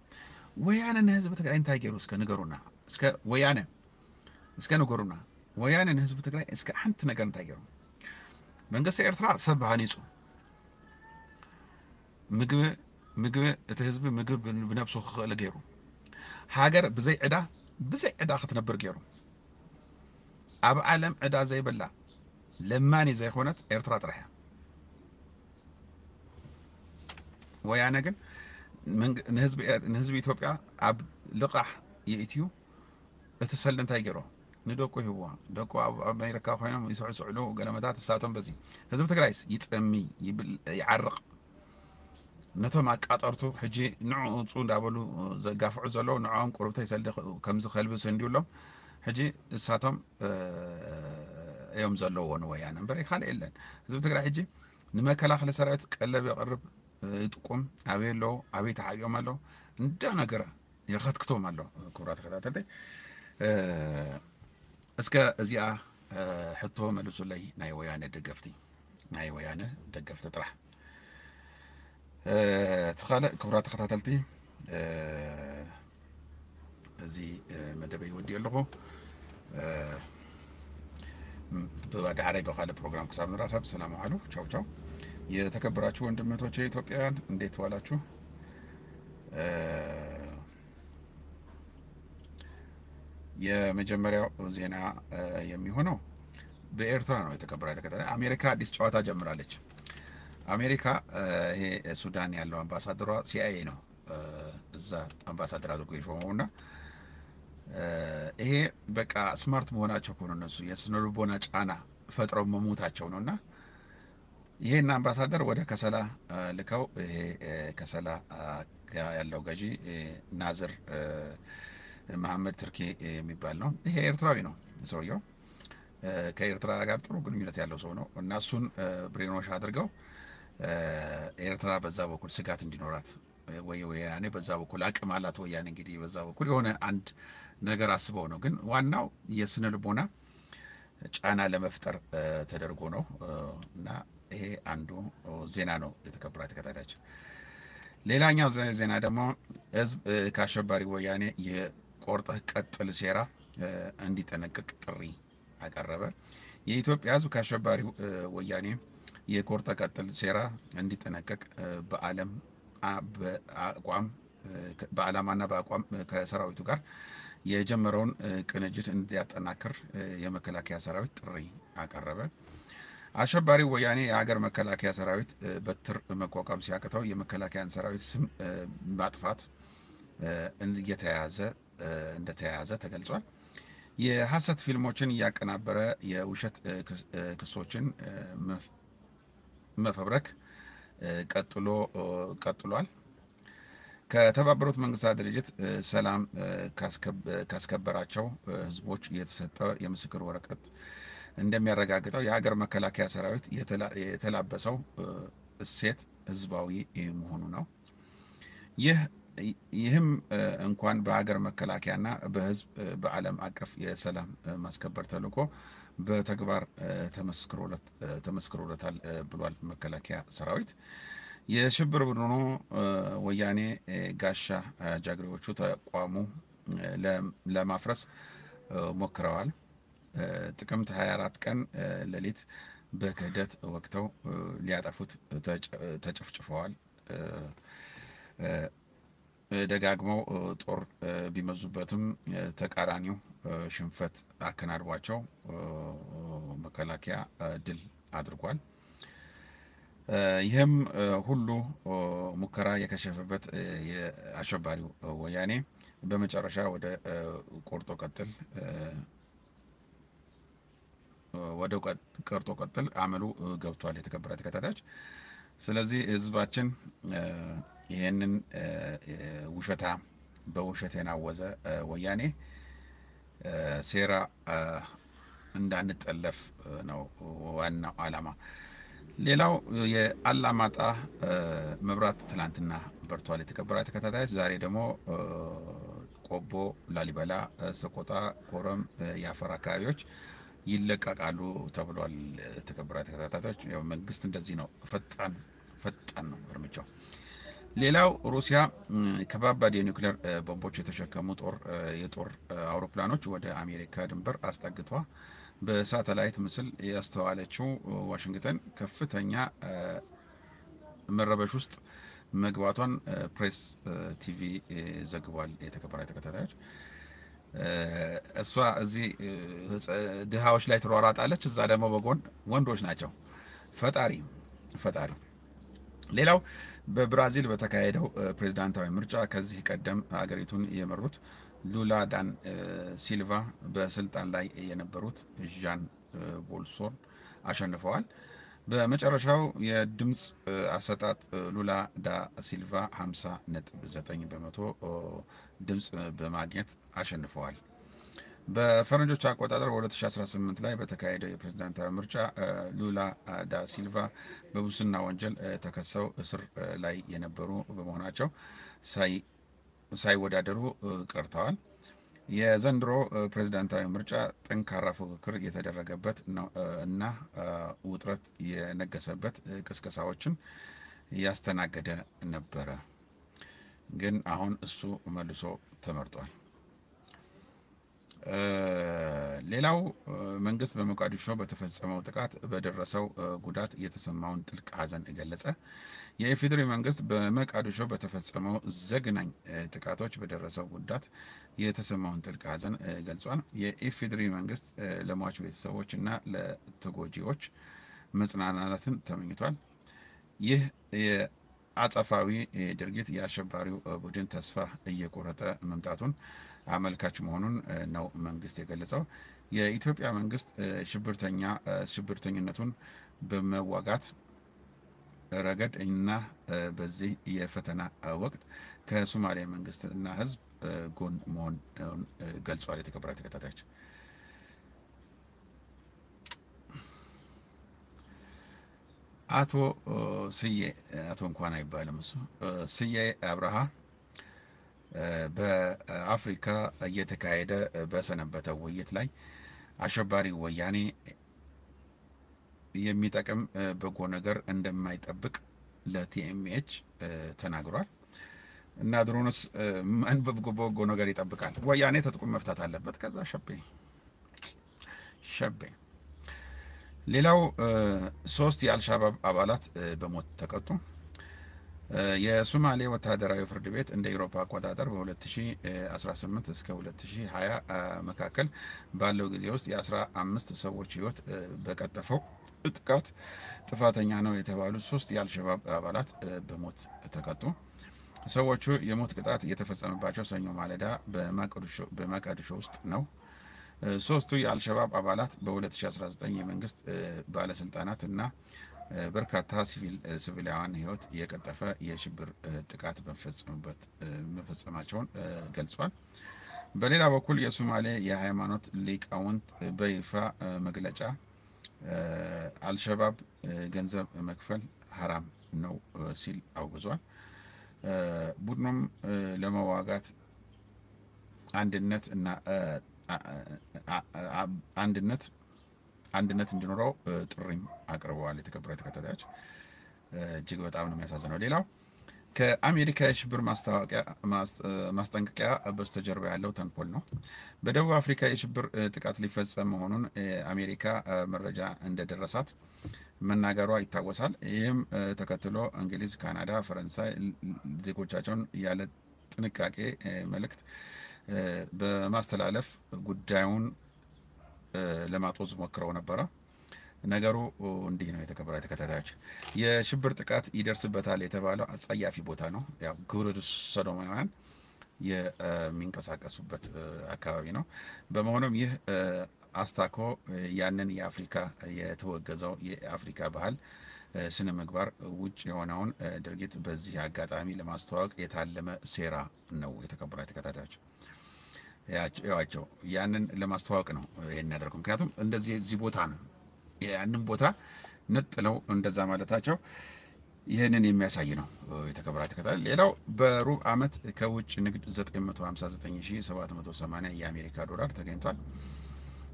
ወያነ ንህዝቢ ትግራይ እንታይ ገይሩ እስከ ንገሩና እስከ ወያነ እስከ ንገሩና ወያነ ንህዝቢ ትግራይ እስከ ሓንቲ ነገር እንታይ ገይሩ መንግስቲ ኤርትራ ሰብ ሃኒፁ ምግቢ ምግቢ እቲ ህዝቢ ምግቢ ብነብሱ ክኽእል ገይሩ ሃገር ብዘይ ዕዳ ብዘይ ዕዳ ክትነብር ገይሩ ኣብ ዓለም ዕዳ ዘይብላ ለማኒ ዘይኮነት ኤርትራ ጥራሕ እያ ወያነ ግን ንህዝቢ ኢትዮጵያ ኣብ ልቓሕ የእትዩ እቲ ሰልዲ እንታይ ገይሮ ንደቁ ይህብዋ ደቁ ኣብ ኣሜሪካ ኮይኖም ይስዕስዕሉ ገለመታት እሳቶም በዚ ህዝቢ ትግራይስ ይጠሚ ይብል ይዓርቕ ነቶም ኣቃጠርቱ ሕጂ ንዑ ውፁ እንዳበሉ ዘጋፍዑ ዘለዉ ንዕኦም ቁርብተይ ሰልዲ ከምዚ ከልቢ ሰንድዩሎም ሕጂ እሳቶም እዮም ዘለዎ ንወያነ እምበር ካልእ የለን ህዝቢ ትግራይ ሕጂ ንመከላኸሊ ሰራዊት ቀለብ የቕርብ ይጥቁም ኣበይ ኣለዉ ኣበይ ተዓብዮም ኣለዉ እንዳ ነገረ የኸትክቶም ኣሎ ክቡራ ተከታተልተይ እስከ እዚኣ ሕቶ መልሱለይ ናይ ወያነ ደገፍቲ ናይ ወያነ ደገፍቲ ጥራሕ እቲ ካልእ ክቡራ ተከታተልቲ እዚ መደበይ ወዲኡ ኣለኹ ብዳዕራይ ብካልእ ፕሮግራም ክሳብ ንራኸብ ሰላም ዓሉ ቻው ቻው የተከበራችሁ ወንድም እህቶቼ ኢትዮጵያውያን እንዴት ዋላችሁ የመጀመሪያው ዜና የሚሆነው በኤርትራ ነው የተከበራ የተከታተለ አሜሪካ አዲስ ጨዋታ ጀምራለች አሜሪካ ይሄ ሱዳን ያለው አምባሳደሯ ሲአይኤ ነው እዛ አምባሳደር አድርጎ የሾመው እና ይሄ በቃ ስማርት መሆናቸው ከሆነ እነሱ የስነልቦና ጫና ፈጥረው መሞታቸው ነው እና ይሄን አምባሳደር ወደ ከሰላ ልከው ይሄ ከሰላ ያለው ገዢ ናዝር መሐመድ ትርኪ የሚባል ነው። ይሄ ኤርትራዊ ነው ሰውየው። ከኤርትራ ጋር ጥሩ ግንኙነት ያለው ሰው ነው እና እሱን ብሬኖሽ አድርገው ኤርትራ በዛ በኩል ስጋት እንዲኖራት ወይ ወያኔ በዛ በኩል አቅም አላት። ወያኔ እንግዲህ በዛ በኩል የሆነ አንድ ነገር አስበው ነው። ግን ዋናው የስነ ልቦና ጫና ለመፍጠር ተደርጎ ነው። እና ይሄ አንዱ ዜና ነው። የተከበራችሁ ተከታታዮች፣ ሌላኛው ዜና ደግሞ ህዝብ ከአሸባሪ ወያኔ የቆርጠህ ቀጥል ሴራ እንዲጠነቀቅ ጥሪ አቀረበ። የኢትዮጵያ ህዝብ ከአሸባሪው ወያኔ የቆርጠ ቀጥል ሴራ እንዲጠነቀቅ በዓለም በአቋም በዓላማና በአቋም ከሰራዊቱ ጋር የጀመረውን ቅንጅት እንዲያጠናክር የመከላከያ ሰራዊት ጥሪ አቀረበ። አሸባሪው ወያኔ የሀገር መከላከያ ሰራዊት በትር መቋቋም ሲያቅተው የመከላከያን ሰራዊት ስም ማጥፋት እየተያያዘ እንደተያያዘ ተገልጿል። የሐሰት ፊልሞችን እያቀናበረ የውሸት ክሶችን መፈብረክ ቀጥሎ ቀጥሏል። ከተባበሩት መንግስታት ድርጅት ሰላም ካስከበራቸው ህዝቦች የተሰጠ የምስክር ወረቀት እንደሚያረጋግጠው የሀገር መከላከያ ሰራዊት የተላበሰው እሴት ህዝባዊ መሆኑ ነው። ይህ ይህም እንኳን በሀገር መከላከያና በህዝብ በዓለም አቀፍ የሰላም ማስከበር ተልዕኮ በተግባር ተመስክሮለታል ብሏል መከላከያ ሰራዊት። የሽብር ቡድኑ ወያኔ ጋሻ ጃግሬዎቹ ተቋሙ ለማፍረስ ሞክረዋል። ጥቅምት ሃያ አራት ቀን ሌሊት በክህደት ወግተው ሊያጠፉት ተጨፍጭፈዋል። ደጋግመው ጦር ቢመዙበትም ተቃራኒው ሽንፈት አከናድቧቸው መከላከያ ድል አድርጓል። ይህም ሁሉ ሙከራ የከሸፈበት የአሸባሪው ወያኔ በመጨረሻ ወደ ቆርጦ ቀጥል ወደ ቆርጦ ቀጥል አመሉ ገብቷል። የተከበራችሁ ተከታታዮች፣ ስለዚህ ህዝባችን ይህንን ውሸታ በውሸት የናወዘ ወያኔ ሴራ እንዳንጠለፍ ነው ዋናው ዓላማ። ሌላው የአላማጣ መብራት ትላንትና በርቷል። የተከበራችሁ ተከታታዮች፣ ዛሬ ደግሞ ቆቦ፣ ላሊበላ፣ ሰቆጣ፣ ኮረም፣ የአፈር አካባቢዎች ይለቀቃሉ ተብሏል። የተከበራችሁ ተከታታዮች፣ ያው መንግስት እንደዚህ ነው፣ ፈጣን ፈጣን ነው እርምጃው። ሌላው ሩሲያ ከባባድ የኒውክሌር ቦምቦች የተሸከሙ ጦር የጦር አውሮፕላኖች ወደ አሜሪካ ድንበር አስጠግቷ በሳተላይት ምስል ያስተዋለችው ዋሽንግተን ከፍተኛ መረበሽ ውስጥ መግባቷን ፕሬስ ቲቪ ዘግቧል። የተከበራችሁ ተከታታዮች፣ እሷ እዚህ ድሃዎች ላይ ትሯሯጣለች፣ እዛ ደግሞ በጎን ወንዶች ናቸው። ፈጣሪ ፈጣሪ። ሌላው በብራዚል በተካሄደው ፕሬዝዳንታዊ ምርጫ ከዚህ ቀደም አገሪቱን የመሩት ሉላ ዳን ሲልቫ በስልጣን ላይ የነበሩት ዣን ቦልሶን አሸንፈዋል። በመጨረሻው የድምፅ አሰጣጥ ሉላ ዳ ሲልቫ ሀምሳ ነጥብ ዘጠኝ በመቶ ድምፅ በማግኘት አሸንፈዋል። በፈረንጆች አቆጣጠር በሁለት ሺህ አስራ ስምንት ላይ በተካሄደው የፕሬዝዳንታዊ ምርጫ ሉላ ዳ ሲልቫ በሙስና ወንጀል ተከሰው እስር ላይ የነበሩ በመሆናቸው ሳይወዳደሩ ቀርተዋል። የዘንድሮ ፕሬዝዳንታዊ ምርጫ ጠንካራ ፉክክር የተደረገበት እና ውጥረት የነገሰበት ቅስቀሳዎችን ያስተናገደ ነበረ። ግን አሁን እሱ መልሶ ተመርጧል። ሌላው መንግስት በሞቃዲሾ በተፈጸመው ጥቃት በደረሰው ጉዳት የተሰማውን ጥልቅ ሐዘን ገለጸ። የኢፌዴሪ መንግስት በሞቃዲሾ በተፈጸመው ዘግናኝ ጥቃቶች በደረሰው ጉዳት የተሰማውን ጥልቅ ሐዘን ገልጿል። የኢፌዴሪ መንግስት ለሟች ቤተሰቦች እና ለተጎጂዎች መጽናናትን ተመኝቷል። ይህ አጸፋዊ ድርጊት የአሸባሪው ቡድን ተስፋ እየቆረጠ መምጣቱን አመልካች መሆኑን ነው መንግስት የገለጸው። የኢትዮጵያ መንግስት ሽብርተኛ ሽብርተኝነቱን በመዋጋት ረገድ እና በዚህ የፈተና ወቅት ከሶማሌ መንግስትና ህዝብ ጎን መሆኑን ገልጿል። የተከበራችሁ ተከታታዮች፣ አቶ ስዬ፣ አቶ እንኳን አይባልም እሱ፣ ስዬ አብርሃ በአፍሪካ እየተካሄደ በሰነበተው ውይይት ላይ አሸባሪ ወያኔ የሚጠቅም በጎ ነገር እንደማይጠብቅ ለ ቲ ኤም ኤች ተናግሯል። እና ድሮንስ ማን በጎ ነገር ይጠብቃል? ወያኔ ትጥቁን መፍታት አለበት። ከዛ ሸቤ ሸቤ። ሌላው ሶስት የአልሻባብ አባላት በሞት ተቀጡ። የሶማሌ ወታደራዊ ፍርድ ቤት እንደ ኤሮፓ አቆጣጠር በ ሁለት ሺህ አስራ ስምንት እስከ ሁለት ሺህ ሃያ መካከል ባለው ጊዜ ውስጥ የአስራ አምስት ሰዎች ህይወት በቀጠፈው ጥቃት ጥፋተኛ ነው የተባሉት ሶስት የአልሸባብ አባላት በሞት ተቀጡ። ሰዎቹ የሞት ቅጣት የተፈጸመባቸው ሰኞ ማለዳ በማቀዱሾ ውስጥ ነው። ሶስቱ የአልሸባብ አባላት በ ሁለት ሺህ አስራ ዘጠኝ የመንግስት ባለስልጣናት እና በርካታ ሲቪላውያን ህይወት የቀጠፈ የሽብር ጥቃት መፈጸማቸውን ገልጿል። በሌላ በኩል የሶማሌ የሃይማኖት ሊቃውንት በይፋ መግለጫ አልሸባብ ገንዘብ መክፈል ሐራም ነው ሲል አውግዟል። ቡድኑም ለመዋጋት አንድነት እና አንድነት አንድነት እንዲኖረው ጥሪም አቅርበዋል። የተከበረ ተከታታዮች፣ እጅግ በጣም ነው የሚያሳዝነው። ሌላው ከአሜሪካ የሽብር ማስጠንቀቂያ በስተጀርባ ያለው ተንኮል ነው። በደቡብ አፍሪካ የሽብር ጥቃት ሊፈጸም መሆኑን አሜሪካ መረጃ እንደደረሳት መናገሯ ይታወሳል። ይህም ተከትሎ እንግሊዝ፣ ካናዳ፣ ፈረንሳይ ዜጎቻቸውን ያለ ጥንቃቄ መልእክት በማስተላለፍ ጉዳዩን ለማጦዝ ሞክረው ነበረ። ነገሩ እንዲህ ነው። የተከበረ ተከታታዮች፣ የሽብር ጥቃት ይደርስበታል የተባለው አጸያፊ ቦታ ነው። ያው ግብረ ሰዶማውያን የሚንቀሳቀሱበት አካባቢ ነው። በመሆኑም ይህ አስታኮ ያንን የአፍሪካ የተወገዘው የአፍሪካ ባህል ስነ ምግባር ውጭ የሆነውን ድርጊት በዚህ አጋጣሚ ለማስተዋወቅ የታለመ ሴራ ነው። የተከበረ ተከታታዮች፣ ያቸው ያንን ለማስተዋወቅ ነው ይሄን ያደረገው። ምክንያቱም እንደዚህ እዚህ ቦታ ነው፣ ያንን ቦታ ነጥለው እንደዛ ማለታቸው ይህንን የሚያሳይ ነው። የተከበረ ተከታታዮች፣ ሌላው በሩብ ዓመት ከውጭ ንግድ ዘጠኝ መቶ ሃምሳ ዘጠኝ ሺህ ሰባት መቶ ሰማንያ የአሜሪካ ዶላር ተገኝቷል።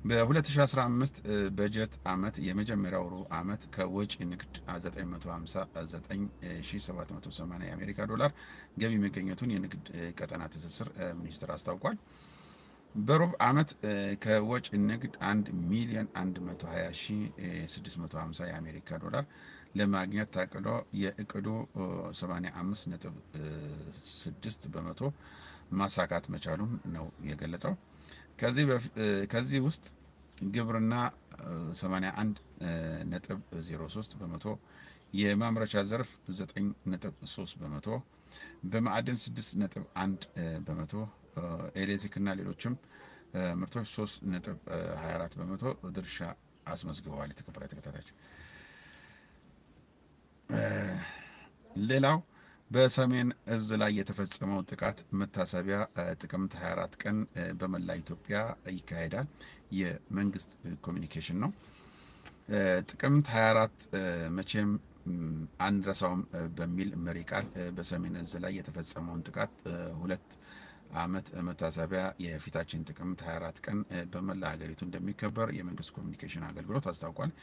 በ ሁለት ሺህ አስራ አምስት በጀት ዓመት የመጀመሪያው ሩብ ዓመት ከወጪ ንግድ ዘጠኝ መቶ ሃምሳ ዘጠኝ ሺህ ሰባት መቶ ሰማንያ የአሜሪካ ዶላር ገቢ መገኘቱን የንግድ ቀጠና ትስስር ሚኒስቴር አስታውቋል። በሩብ ዓመት ከወጪ ንግድ አንድ ሚሊዮን አንድ መቶ ሃያ ሺህ ስድስት መቶ ሃምሳ የአሜሪካ ዶላር ለማግኘት ታቅዶ የእቅዱ ሰማንያ አምስት ነጥብ ስድስት በመቶ ማሳካት መቻሉን ነው የገለጸው። ከዚህ ውስጥ ግብርና ሰማንያ አንድ ነጥብ ዜሮ ሶስት በመቶ፣ የማምረቻ ዘርፍ ዘጠኝ ነጥብ ሶስት በመቶ፣ በማዕድን ስድስት ነጥብ አንድ በመቶ፣ ኤሌክትሪክና ሌሎችም ምርቶች ሶስት ነጥብ ሃያ አራት በመቶ ድርሻ አስመዝግበዋል። የተከበረ ተከታታዮች፣ ሌላው በሰሜን እዝ ላይ የተፈጸመው ጥቃት መታሰቢያ ጥቅምት ሃያ አራት ቀን በመላ ኢትዮጵያ ይካሄዳል። የመንግስት ኮሚኒኬሽን ነው። ጥቅምት ሃያ አራት መቼም አንረሳውም በሚል መሪ ቃል በሰሜን እዝ ላይ የተፈጸመውን ጥቃት ሁለት ዓመት መታሰቢያ የፊታችን ጥቅምት ሃያ አራት ቀን በመላ ሀገሪቱ እንደሚከበር የመንግስት ኮሚኒኬሽን አገልግሎት አስታውቋል።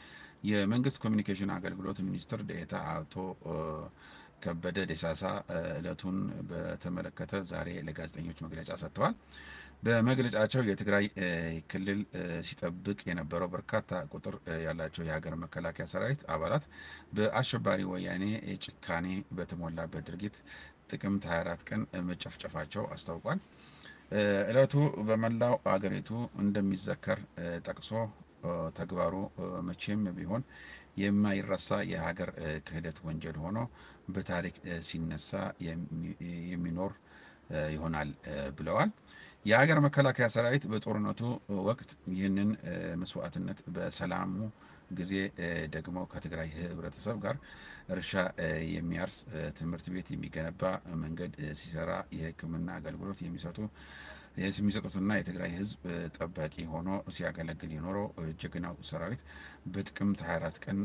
የመንግስት ኮሚኒኬሽን አገልግሎት ሚኒስትር ዴኤታ አቶ ከበደ ደሳሳ ዕለቱን በተመለከተ ዛሬ ለጋዜጠኞች መግለጫ ሰጥተዋል። በመግለጫቸው የትግራይ ክልል ሲጠብቅ የነበረው በርካታ ቁጥር ያላቸው የሀገር መከላከያ ሰራዊት አባላት በአሸባሪ ወያኔ ጭካኔ በተሞላበት ድርጊት ጥቅምት ሃያ አራት ቀን መጨፍጨፋቸው አስታውቋል። ዕለቱ በመላው አገሪቱ እንደሚዘከር ጠቅሶ፣ ተግባሩ መቼም ቢሆን የማይረሳ የሀገር ክህደት ወንጀል ሆኖ በታሪክ ሲነሳ የሚኖር ይሆናል ብለዋል። የሀገር መከላከያ ሰራዊት በጦርነቱ ወቅት ይህንን መስዋዕትነት በሰላሙ ጊዜ ደግሞ ከትግራይ ህብረተሰብ ጋር እርሻ የሚያርስ፣ ትምህርት ቤት የሚገነባ፣ መንገድ ሲሰራ፣ የሕክምና አገልግሎት የሚሰጡ የሚሰጡትና የትግራይ ህዝብ ጠባቂ ሆኖ ሲያገለግል የኖረው ጀግናው ሰራዊት በጥቅምት ሃያ አራት ቀን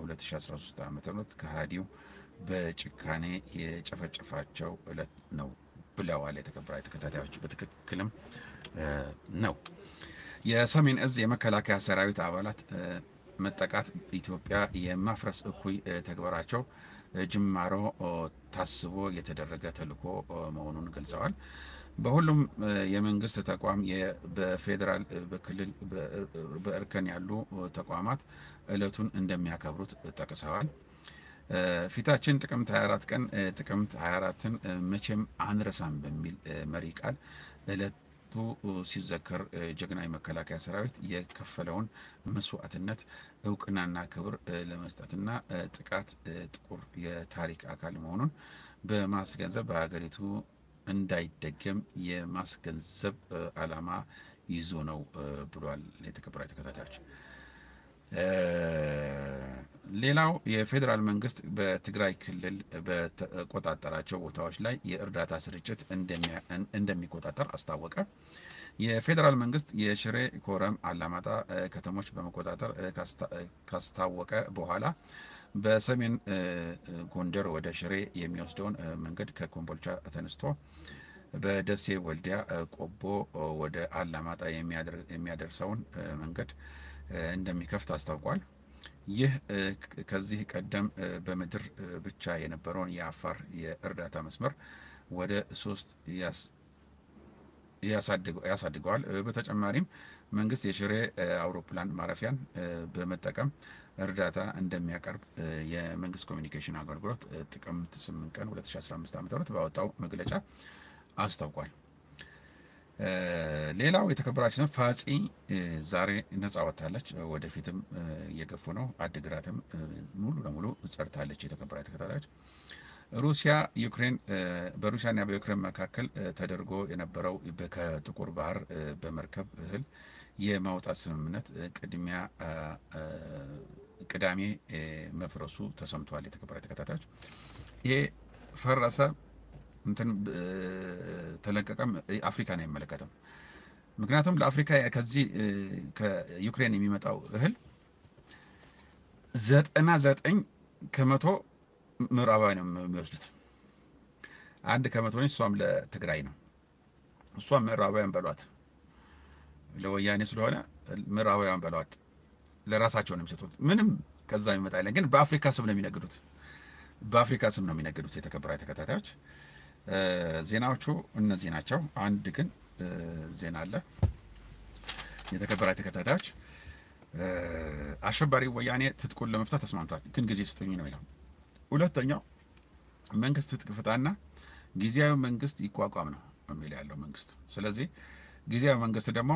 ሁለት ሺ አስራ ሶስት ዓመተ ምህረት ከሃዲው በጭካኔ የጨፈጨፋቸው ዕለት ነው ብለዋል። የተከበራችሁ ተከታታዮች፣ በትክክልም ነው። የሰሜን እዝ የመከላከያ ሰራዊት አባላት መጠቃት ኢትዮጵያ የማፍረስ እኩይ ተግባራቸው ጅማሮ ታስቦ የተደረገ ተልዕኮ መሆኑን ገልጸዋል። በሁሉም የመንግስት ተቋም፣ በፌዴራል፣ በክልል፣ በእርከን ያሉ ተቋማት ዕለቱን እንደሚያከብሩት ጠቅሰዋል። ፊታችን ጥቅምት ሃያ አራት ቀን፣ ጥቅምት ሃያ አራትን መቼም አንረሳም በሚል መሪ ቃል ዕለቱ ሲዘከር፣ ጀግና የመከላከያ ሰራዊት የከፈለውን መስዋዕትነት እውቅናና ክብር ለመስጠትና ጥቃት ጥቁር የታሪክ አካል መሆኑን በማስገንዘብ በሀገሪቱ እንዳይደገም የማስገንዘብ ዓላማ ይዞ ነው ብሏል። የተከበራችሁ ተከታታዮች፣ ሌላው የፌዴራል መንግስት በትግራይ ክልል በተቆጣጠራቸው ቦታዎች ላይ የእርዳታ ስርጭት እንደሚቆጣጠር አስታወቀ። የፌዴራል መንግስት የሽሬ፣ ኮረም፣ አላማጣ ከተሞች በመቆጣጠር ካስታወቀ በኋላ በሰሜን ጎንደር ወደ ሽሬ የሚወስደውን መንገድ ከኮምቦልቻ ተነስቶ በደሴ፣ ወልዲያ፣ ቆቦ ወደ አላማጣ የሚያደርሰውን መንገድ እንደሚከፍት አስታውቋል። ይህ ከዚህ ቀደም በምድር ብቻ የነበረውን የአፋር የእርዳታ መስመር ወደ ሶስት ያሳድገዋል። በተጨማሪም መንግስት የሽሬ አውሮፕላን ማረፊያን በመጠቀም እርዳታ እንደሚያቀርብ የመንግስት ኮሚኒኬሽን አገልግሎት ጥቅምት ስምንት ቀን ሁለት ሺ አስራ አምስት ዓመተ ምህረት ባወጣው መግለጫ አስታውቋል። ሌላው የተከበራችሁ ፋጺ ዛሬ ነጻ ወጥታለች። ወደፊትም እየገፉ ነው። አድግራትም ሙሉ ለሙሉ ጸድታለች። የተከበራችሁ ተከታታዮች፣ ሩሲያ ዩክሬን በሩሲያና በዩክሬን መካከል ተደርጎ የነበረው ከጥቁር ባህር በመርከብ እህል የማውጣት ስምምነት ቅድሚያ ቅዳሜ መፍረሱ ተሰምቷል። የተከበራችሁ ተከታታዮች፣ ይሄ ፈረሰ እንትን ተለቀቀም አፍሪካን አይመለከትም። ምክንያቱም ለአፍሪካ ከዚህ ከዩክሬን የሚመጣው እህል ዘጠና ዘጠኝ ከመቶ ምዕራባውያን ነው የሚወስዱት። አንድ ከመቶ ነች፣ እሷም ለትግራይ ነው። እሷም ምዕራባውያን በሏት፣ ለወያኔ ስለሆነ ምዕራባውያን በሏት፣ ለራሳቸው ነው የሚሰጡት። ምንም ከዛ የሚመጣ የለም። ግን በአፍሪካ ስም ነው የሚነግዱት፣ በአፍሪካ ስም ነው የሚነግዱት። የተከበራችሁ ተከታታዮች፣ ዜናዎቹ እነዚህ ናቸው። አንድ ግን ዜና አለ። የተከበራችሁ ተከታታዮች፣ አሸባሪ ወያኔ ትጥቁን ለመፍታት ተስማምቷል፣ ግን ጊዜ ስጡኝ ነው የሚለው። ሁለተኛው መንግስት ትጥቅ ፍታና ጊዜያዊ መንግስት ይቋቋም ነው የሚል ያለው መንግስት። ስለዚህ ጊዜያዊ መንግስት ደግሞ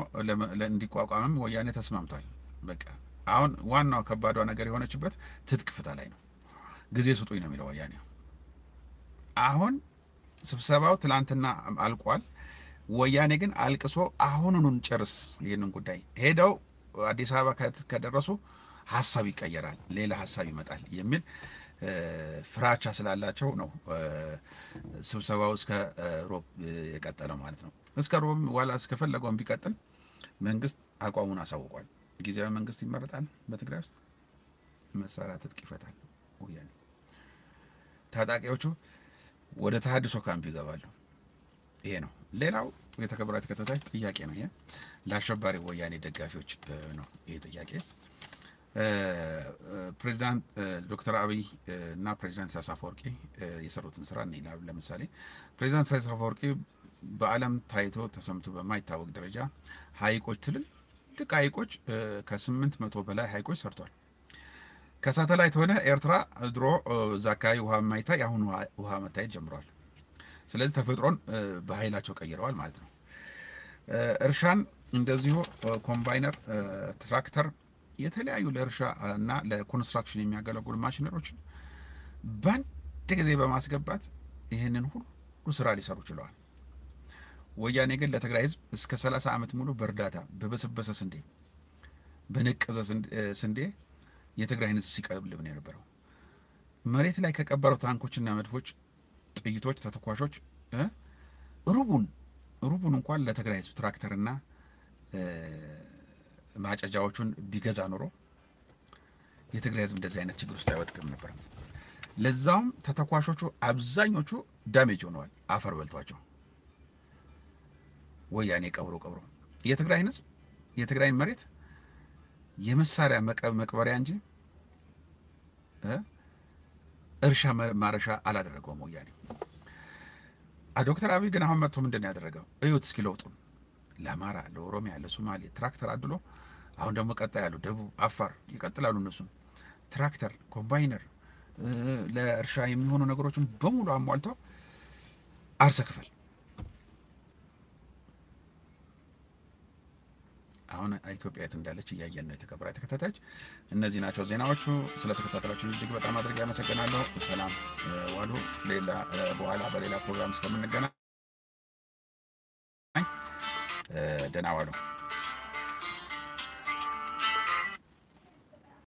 እንዲቋቋምም ወያኔ ተስማምቷል። በቃ አሁን ዋናው ከባዷ ነገር የሆነችበት ትጥቅ ፍታ ላይ ነው። ጊዜ ስጡኝ ነው የሚለው ወያኔ። አሁን ስብሰባው ትላንትና አልቋል። ወያኔ ግን አልቅሶ አሁኑኑን ጨርስ ይህንን ጉዳይ፣ ሄደው አዲስ አበባ ከደረሱ ሀሳብ ይቀየራል፣ ሌላ ሀሳብ ይመጣል የሚል ፍራቻ ስላላቸው ነው ስብሰባው እስከ ሮብ የቀጠለው ማለት ነው። እስከ ሮብ ዋላ እስከፈለገውን ቢቀጥል መንግስት አቋሙን አሳውቋል። ጊዜያዊ መንግስት ይመረጣል በትግራይ ውስጥ፣ መሳሪያ ትጥቅ ይፈታል ወያኔ። ታጣቂዎቹ ወደ ተሃድሶ ካምፕ ይገባሉ። ይሄ ነው። ሌላው የተከበራችሁ ተከታታዮች ጥያቄ ነው ይሄ፣ ለአሸባሪ ወያኔ ደጋፊዎች ነው ይሄ ጥያቄ። ፕሬዚዳንት ዶክተር አብይ እና ፕሬዚዳንት ኢሳያስ አፈወርቂ የሰሩትን ስራ እንይ። ለምሳሌ ፕሬዚዳንት ኢሳያስ አፈወርቂ በዓለም ታይቶ ተሰምቶ በማይታወቅ ደረጃ ሀይቆች፣ ትልልቅ ሀይቆች፣ ከስምንት መቶ በላይ ሀይቆች ሰርቷል። ከሳተላይት ሆነ ኤርትራ ድሮ እዛ አካባቢ ውሃ የማይታይ አሁን ውሃ መታየት ጀምሯል። ስለዚህ ተፈጥሮን በኃይላቸው ቀይረዋል ማለት ነው። እርሻን እንደዚሁ ኮምባይነር፣ ትራክተር፣ የተለያዩ ለእርሻ እና ለኮንስትራክሽን የሚያገለግሉ ማሽነሪዎችን በአንድ ጊዜ በማስገባት ይህንን ሁሉ ስራ ሊሰሩ ችለዋል። ወያኔ ግን ለትግራይ ህዝብ እስከ ሠላሳ ዓመት ሙሉ በእርዳታ በበሰበሰ ስንዴ፣ በነቀዘ ስንዴ የትግራይን ህዝብ ሲቀልብ ነው የነበረው። መሬት ላይ ከቀበረው ታንኮችና መድፎች፣ ጥይቶች፣ ተተኳሾች ሩቡን ሩቡን እንኳን ለትግራይ ህዝብ ትራክተርና ማጨጃዎቹን ቢገዛ ኑሮ የትግራይ ህዝብ እንደዚህ አይነት ችግር ውስጥ አይወጥቅም ነበር። ለዛውም ተተኳሾቹ አብዛኞቹ damage ሆነዋል፣ አፈር በልቷቸው። ወያኔ ቀብሮ ቀብሮ የትግራይን ህዝብ የትግራይን መሬት የመሳሪያ መቀበሪያ እንጂ እርሻ ማረሻ አላደረገውም ወያኔ። ዶክተር አብይ ግን አሁን መጥቶ ምንድን ያደረገው? እዩት እስኪ ለውጡን። ለአማራ፣ ለኦሮሚያ፣ ለሶማሌ ትራክተር አድሎ አሁን ደግሞ ቀጣይ ያሉ ደቡብ፣ አፋር ይቀጥላሉ። እነሱም ትራክተር፣ ኮምባይነር፣ ለእርሻ የሚሆኑ ነገሮችን በሙሉ አሟልተው አርሰ ክፈል። አሁን ኢትዮጵያ የት እንዳለች እያየን ነው። የተከበራችሁ ተከታታዮች፣ እነዚህ ናቸው ዜናዎቹ። ስለተከታተላችሁኝ እጅግ በጣም አድርጌ አመሰግናለሁ። ሰላም ዋሉ። ሌላ በኋላ በሌላ ፕሮግራም እስከምንገናኝ ደህና ዋሉ።